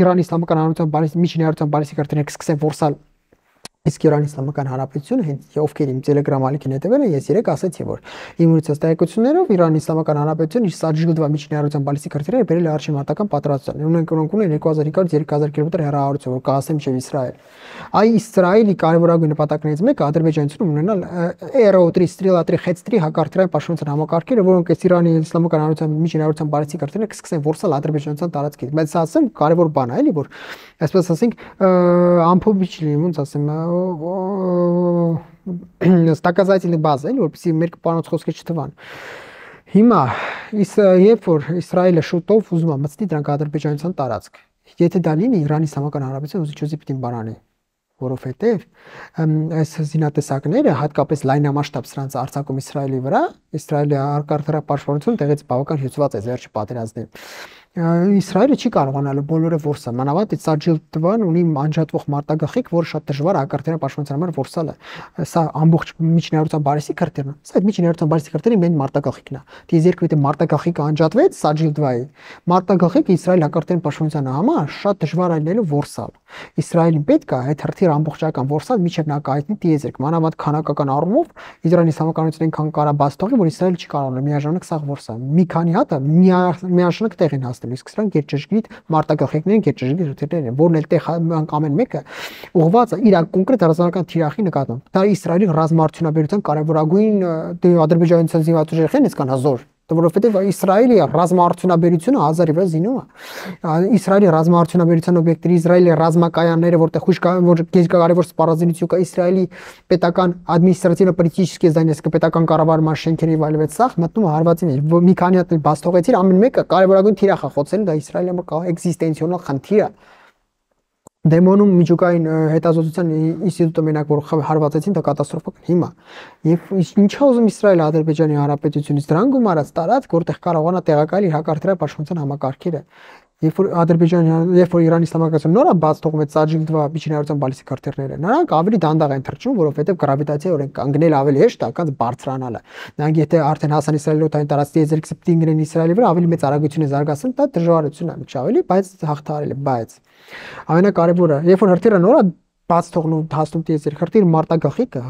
Իրանի Իսլամական Հանրապետության միջին հարցան բալիստիկ արտերենք սկսեն որսալ Իսկ Իրանի Իսլամական Հանրապետությունը հենց ովքեր իմ Telegram ալիքին հետևել են, ես երեք ասացի, որ իմ ունեցած տեղեկություններով Իրանի Իսլամական Հանրապետությունը իր Սաջիլդվա միջնայարության բալիստիկ հրթիռները բերել է արշին մարտական պատրաստության։ Ունենք ունենք ունեն երկու հազար հինգ հարյուր երեք հազար կիլոմետր հեռահարություն, որ կհասնի մինչև Իսրայել։ Այ Իսրայելի կարևորագույն նպատակներից մեկը ադրբեջանցիներում ունենալ Aero-3 Strela-3 Hets-3 հակարդրային պաշտպանության համակարգերը, որոնք այս Իրանի Իսլամական Հանրապետության միջնայարության բալիստիկ հրթիռները կսկսեն որսալ ադրբեջանցիական տարածքից։ Բայց սա ասեմ կարևոր բան է, էլի, որ այսպես ասենք ամփոփիչ լինի, ոնց ասեմ, стаказательный база, էլի, որպեսզի մեր կպանոց խոսքը չթվան։ Հիմա երբ որ Իսրայելը շուտով ուզում է մտցնի դրանք ադրբեջանցիական տարածք, եթե դա լինի Իրանի Իսլամական Հանրապետությունը ուզի չուզի պիտի բանանի, որովհետև այս զինատեսակները հատկապես լայնամասշտաբ սրանց արձակում Իսրայելի վրա, Իսրայելի արտարդարապաշտպանությունը տեղից բավական հյուծված է վերջի պատերազմներին։ Իսրայելը չի կարողանալու բոլորը որսալ, մանավանդ այդ Սաջիլդվան ունի անջատվող մարտագաղթիկ, որը շատ դժվար է արտարդարապաշտպանության համար որսալը։ Սա ամբողջ միջնայարության բալիստիկ հրթիռն է։ Սա այդ միջնայարության բալիստիկ հրթիռի մեն մարտագաղթիկն է։ Դից երկու եթե մարտագաղթիկը անջատվեց Սաջիլդվայի, մարտագաղթիկը Իսրայել արտարդարապաշտպանության համար շատ դժվար է լինելու որսալ։ Իսրայելին պետք է այդ հրթիռը ամբողջական որսալ միջև նա կայտնի տիեզերք, մանավանդ քանակական առումով Իրանի Իսլամականությունը այնքան կարա բաց թողի, որ Իսրայելը չի կարողանում միաժամանակ սա որսալ։ Մի քանի հատ է միաժամանակ տեղ են հասնել, իսկ սրանք գերճշգրիտ մարտագաղթիկներն, գերճշգրիտ հրթիռներ են, որն էլ տեղ ամեն մեկը ուղղված է իր կոնկրետ ռազմական թիրախի նկատմամբ։ Դա Իսրայելի ռազմաարդյունաբերության կարևորագույն ադրբեջանցիական զինված ուժերն են, այսքան հազար, որովհետև Իսրայելի ռազմաարդյունաբերությունը հազարի վրա զինում է։ Իսրայելի ռազմաարդյունաբերության օբյեկտները, Իսրայելի ռազմակայանները, որտեղ խույս որ կարևոր սպառազինություն կա, Իսրայելի պետական ադմինիստրատիվно-պոլիտические здания, պետական կառավարման շենքերի վայելվեց սախ, մտնում է հարվածին։ Մի քանի հատ բաց թողեցիր, ամեն մեկը կարևորագույն թիրախ է խոցել, դա Իսրայելի համար էքզիստենցիոնալ խնդիր է։ Դեմոնում միջուկային հետազոտության ինստիտուտը մենակ որ հարվածեցին, դա կատաստրոֆա։ Հիմա եւ ինչա ուզում Իսրայելը Ադրբեջանի Հանրապետությունից դրան գումարած տարածք, որտեղ կարողանա տեղակայել իր հակարդարապաշտպանության համակարգերը։ Երբ որ Ադրբեջանը, երբ որ Իրանի Իսլամական նորը բաց թողեց Սաջիլդվա միջնայարության բալիստիկ հրթիռները, նրանք ավելի դանդաղ են թռչում, որովհետև գրավիտացիա օրենք կանգնել ավելի հեշտ է, քան բարձրանալը։ Նրանք եթե արդեն հասան Իսրայելի օտային տարածքի եզերք սպտինգ են Իսրայելի վրա, ավելի մեծ արագություն է զարգացնում, դա դժվարություն է միջ ավելի, բայց հաղթահարել է, բայց ամենակարևորը, երբ որ հրթիռը նորը բաց թողնում հասնում տիեզերք, հրթիռը մարտագաղթիկը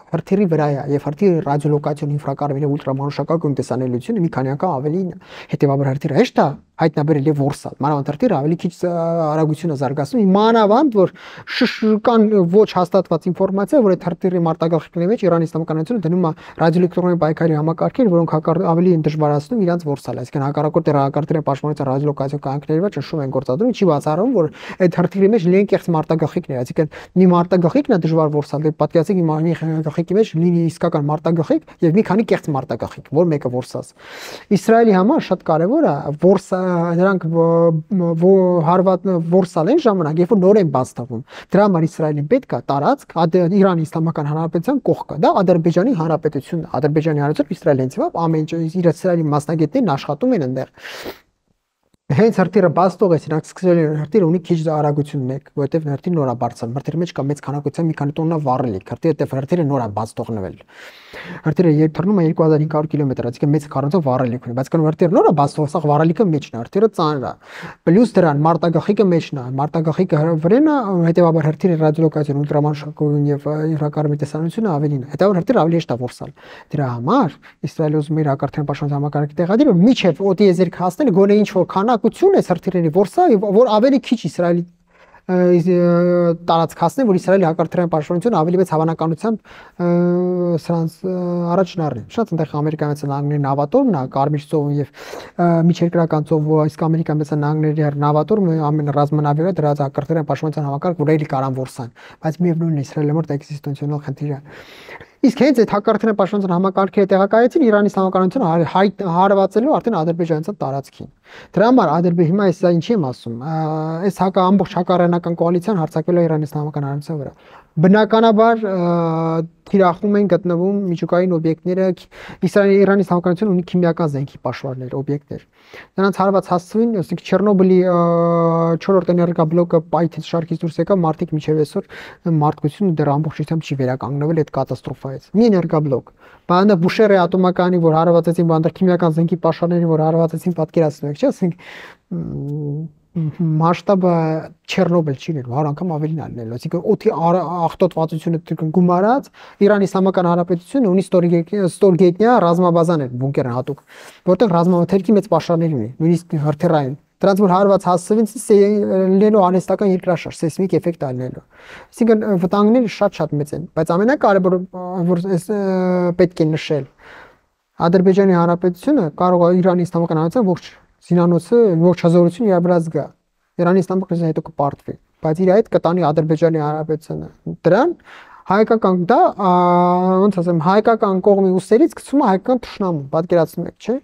հրթիռի վրա է եւ հրթիռի ռադիոլոկացիոն ինֆրակարմիր ուլտրամանուշակագույն տեսանելիությունը մի քանի անգամ ավելին է, հետեւաբար հրթիռը հեշտ է հայտնաբերել եւ որսալ, մանավանդ հրթիռը ավելի քիչ արագություն է զարգացնում, մանավանդ որ կան ոչ հաստատված ինֆորմացիա, որ այդ հրթիռի մարտագաղթիկների մեջ Իրանի Իսլամականությունը դնում է ռադիոէլեկտրոնային պայքարի համակարգեր, որոնք ավելի են դժվարացնում իրանց որսալ, այսինքն հակառակորդ հակարդարի պաշտպանության ռադիոլոկացիոն կանոնների վրա ճնշում են գործադրում, չի բացառում, որ այդ հրթիռի մեջ լինեն կեղծ մարտագաղթիկներ, այսինքն մի մարտագաղթիկն է դժվար որսալ, դե պատկերացեք մի գաղթիկի մեջ լինի իսկական մարտագաղթիկ եւ մի քանի կեղծ մարտագաղթիկ, որ մեկը որսած։ Իսրայելի համար շատ կարեւոր է որսա նրանք հարված որսալ են ժամանակ, երբ որ նոր են բաց թվում։ Դրա համար Իսրայելին պետք է տարածք Իրանի Իսլամական Հանրապետության կողքը, դա Ադրբեջանի Հանրապետությունն է։ Ադրբեջանի Հանրապետությունը Իսրայելը հենց իվա ամեն ինչ իր Իսրայելի մասնագետներն աշխատում են այնտեղ։ Հենց հրթիռը բաց թողեց, նրանք սկսել են հրթիռը ունի քիչ արագություն մեկ, որովհետև հրթիռը նոր է բարձրանում, հրթիռի մեջ կա մեծ քանակության մի քանի տոննա վառելիք, հրթիռը հրթիռը նոր է բաց թողնվել։ Հրթիռը երբ թռնում է երկու հազար հինգ հարյուր կիլոմետր, այսինքն մեծ քառակուսի վառելիք ունի, բայց կան հրթիռը նոր է բաց թողած, սա վառելիքը մեջն է, հրթիռը ծանր է։ Պլյուս դրան մարտագաղթիկը մեջն է, մարտագաղթիկը վրան է, հետեւաբար հրթիռի ռադիոլոկացիոն ուլտրամանուշակագույն եւ ինֆրակարմիր տեսանելիությունը ավելին է։ Հետեւաբար հրթիռը ավելի հեշտ է որսալ։ Դրա համար Իսրայելը ուզում է իր հակարդարային պաշտպանության համակարգը տեղադրել, որ միջև օտիեզերք հասնել գոնե ինչ որ քանակություն է հրթիռերի որսա, որ ավելի քիչ Իսրայելի տարածք հասնի, որ Իսրայելի հակարդարային պաշտպանությունը ավելի մեծ հավանականությամբ սրանց առաջն առնի։ Շատ այնտեղ Ամերիկայի մեծ նահանգների նավատորմն է, Կարմիր ծովում եւ միջերկրական ծովում, իսկ Ամերիկայի մեծ նահանգների նավատորմը ամեն ռազմանավերը դրած հակարդարային պաշտպանության համակարգ, որ էլի կարան որսան, բայց միևնույնն է Իսրայելի համար դա էքզիստենցիոնալ խնդիր է։ Իսկ հենց այդ հակարդարային պաշտպանության համակարգերը տեղակայեցին Իրանի Իսլամականությունը հարվածելու արդեն ադրբեջանցիական տարածքին։ Դրա համար Ադրբեջանը հիմա այս ինչի եմ ասում, այս հակա ամբողջ հակառանական կոալիցիան հարձակվել է Իրանի Իսլամական Հանրապետության վրա։ Բնականաբար թիրախում են գտնվում միջուկային օբյեկտները, Իսրայելի Իրանի Իսլամականությունը ունի քիմիական զենքի պաշտպաններ, օբյեկտներ։ Նրանց հարված հասցվին, ասենք Չեռնոբիլի չորրորդ էներգաբլոկը պայթից շարքից դուրս եկավ, մարդիկ միջև այսօր մարդկությունը դեռ ամբողջությամբ չի վերականգնվել այդ կատաստրոֆայից։ Մի էներգաբլոկ։ Բանը Բուշերը ատոմականի, որ հարվածեցին, բանը քիմիական զենքի պաշտպաններին, որ հարվածեցին, պատկերացնում եք, չէ՞, ասենք մասշտաբը Չեռնոբիլ չի լինելու, հարյուր անգամ ավելին է լինելու, այսինքն օդի աղտոտվածությունը գումարած Իրանի Իսլամական Հանրապետությունը ունի ստորգետնյա ռազմաբազաներ, բունկեր հատուկ, որտեղ ռազմամթերքի մեծ պաշարներ ունի, նույնիսկ հրթիռային։ Դրանց որ հարված հասցվին լինելու անհեստական երկրաշարժ, սեյսմիկ էֆեկտ ալնելու։ Այսինքն վտանգները շատ-շատ մեծ են, բայց ամենակարևորը որ պետք է նշել, Ադրբեջանի Հանրապետությունը կարող է Իրանի Իսլամական Հանրապետության ողջ զինանոցը, ողջ հզորությունը իր վրա զգա։ Իրանի Իսլամական Հանրապետությունը հետո կպարտվի, բայց իր հետ կտանի Ադրբեջանի Հանրապետությունը։ Դրան հայկական դա ոնց ասեմ, հայկական կողմի ուսերից գցում է հայկական թշնամու, պատկերացնում եք, չէ՞։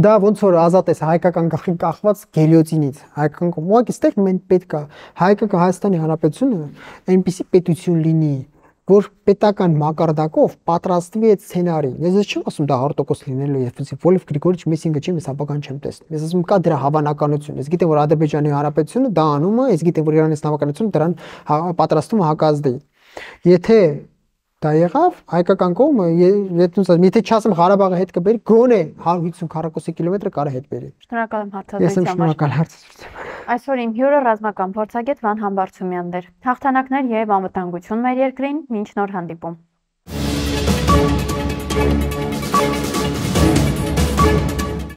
Դա ոնց որ ազատ է հայկական գլխին կախված գելիոտինից, հայկական կողմ։ Ուղղակի ստեղ մենք պետք է հայկական Հայաստանի Հանրապետությունը այնպիսի պետություն լինի, որ պետական մակարդակով պատրաստվի այդ սցենարին։ Ես չեմ ասում դա հա տոկոս լինելու է, Վոլֆ Գրիգորիչ Մեսինգը չի, ես ապական չեմ տեսնում։ Ես ասում կա դրա հավանականություն։ Ես գիտեմ որ Ադրբեջանի Հանրապետությունը դա անում է, ես գիտեմ որ Իրանի Իսլամական Հանրապետությունը դրան պատրաստում է հակազդի։ Եթե դա եղավ, հայկական կողմը, եթե չասեմ Ղարաբաղը հետ կբերի, գոնե հարյուր հիսուն քառակուսի կիլոմետրը կարա հետ բերի։ Շնորհակալ եմ հարցազրույցի համար։ Ես եմ շնորհակալ հարցազրույցի։ Այսօր իմ հյուրը ռազմական փորձագետ Վան Համբարձումյանն էր։ Հաղթանակներ եւ անվտանգություն մեր երկրին, մինչ նոր հանդիպում։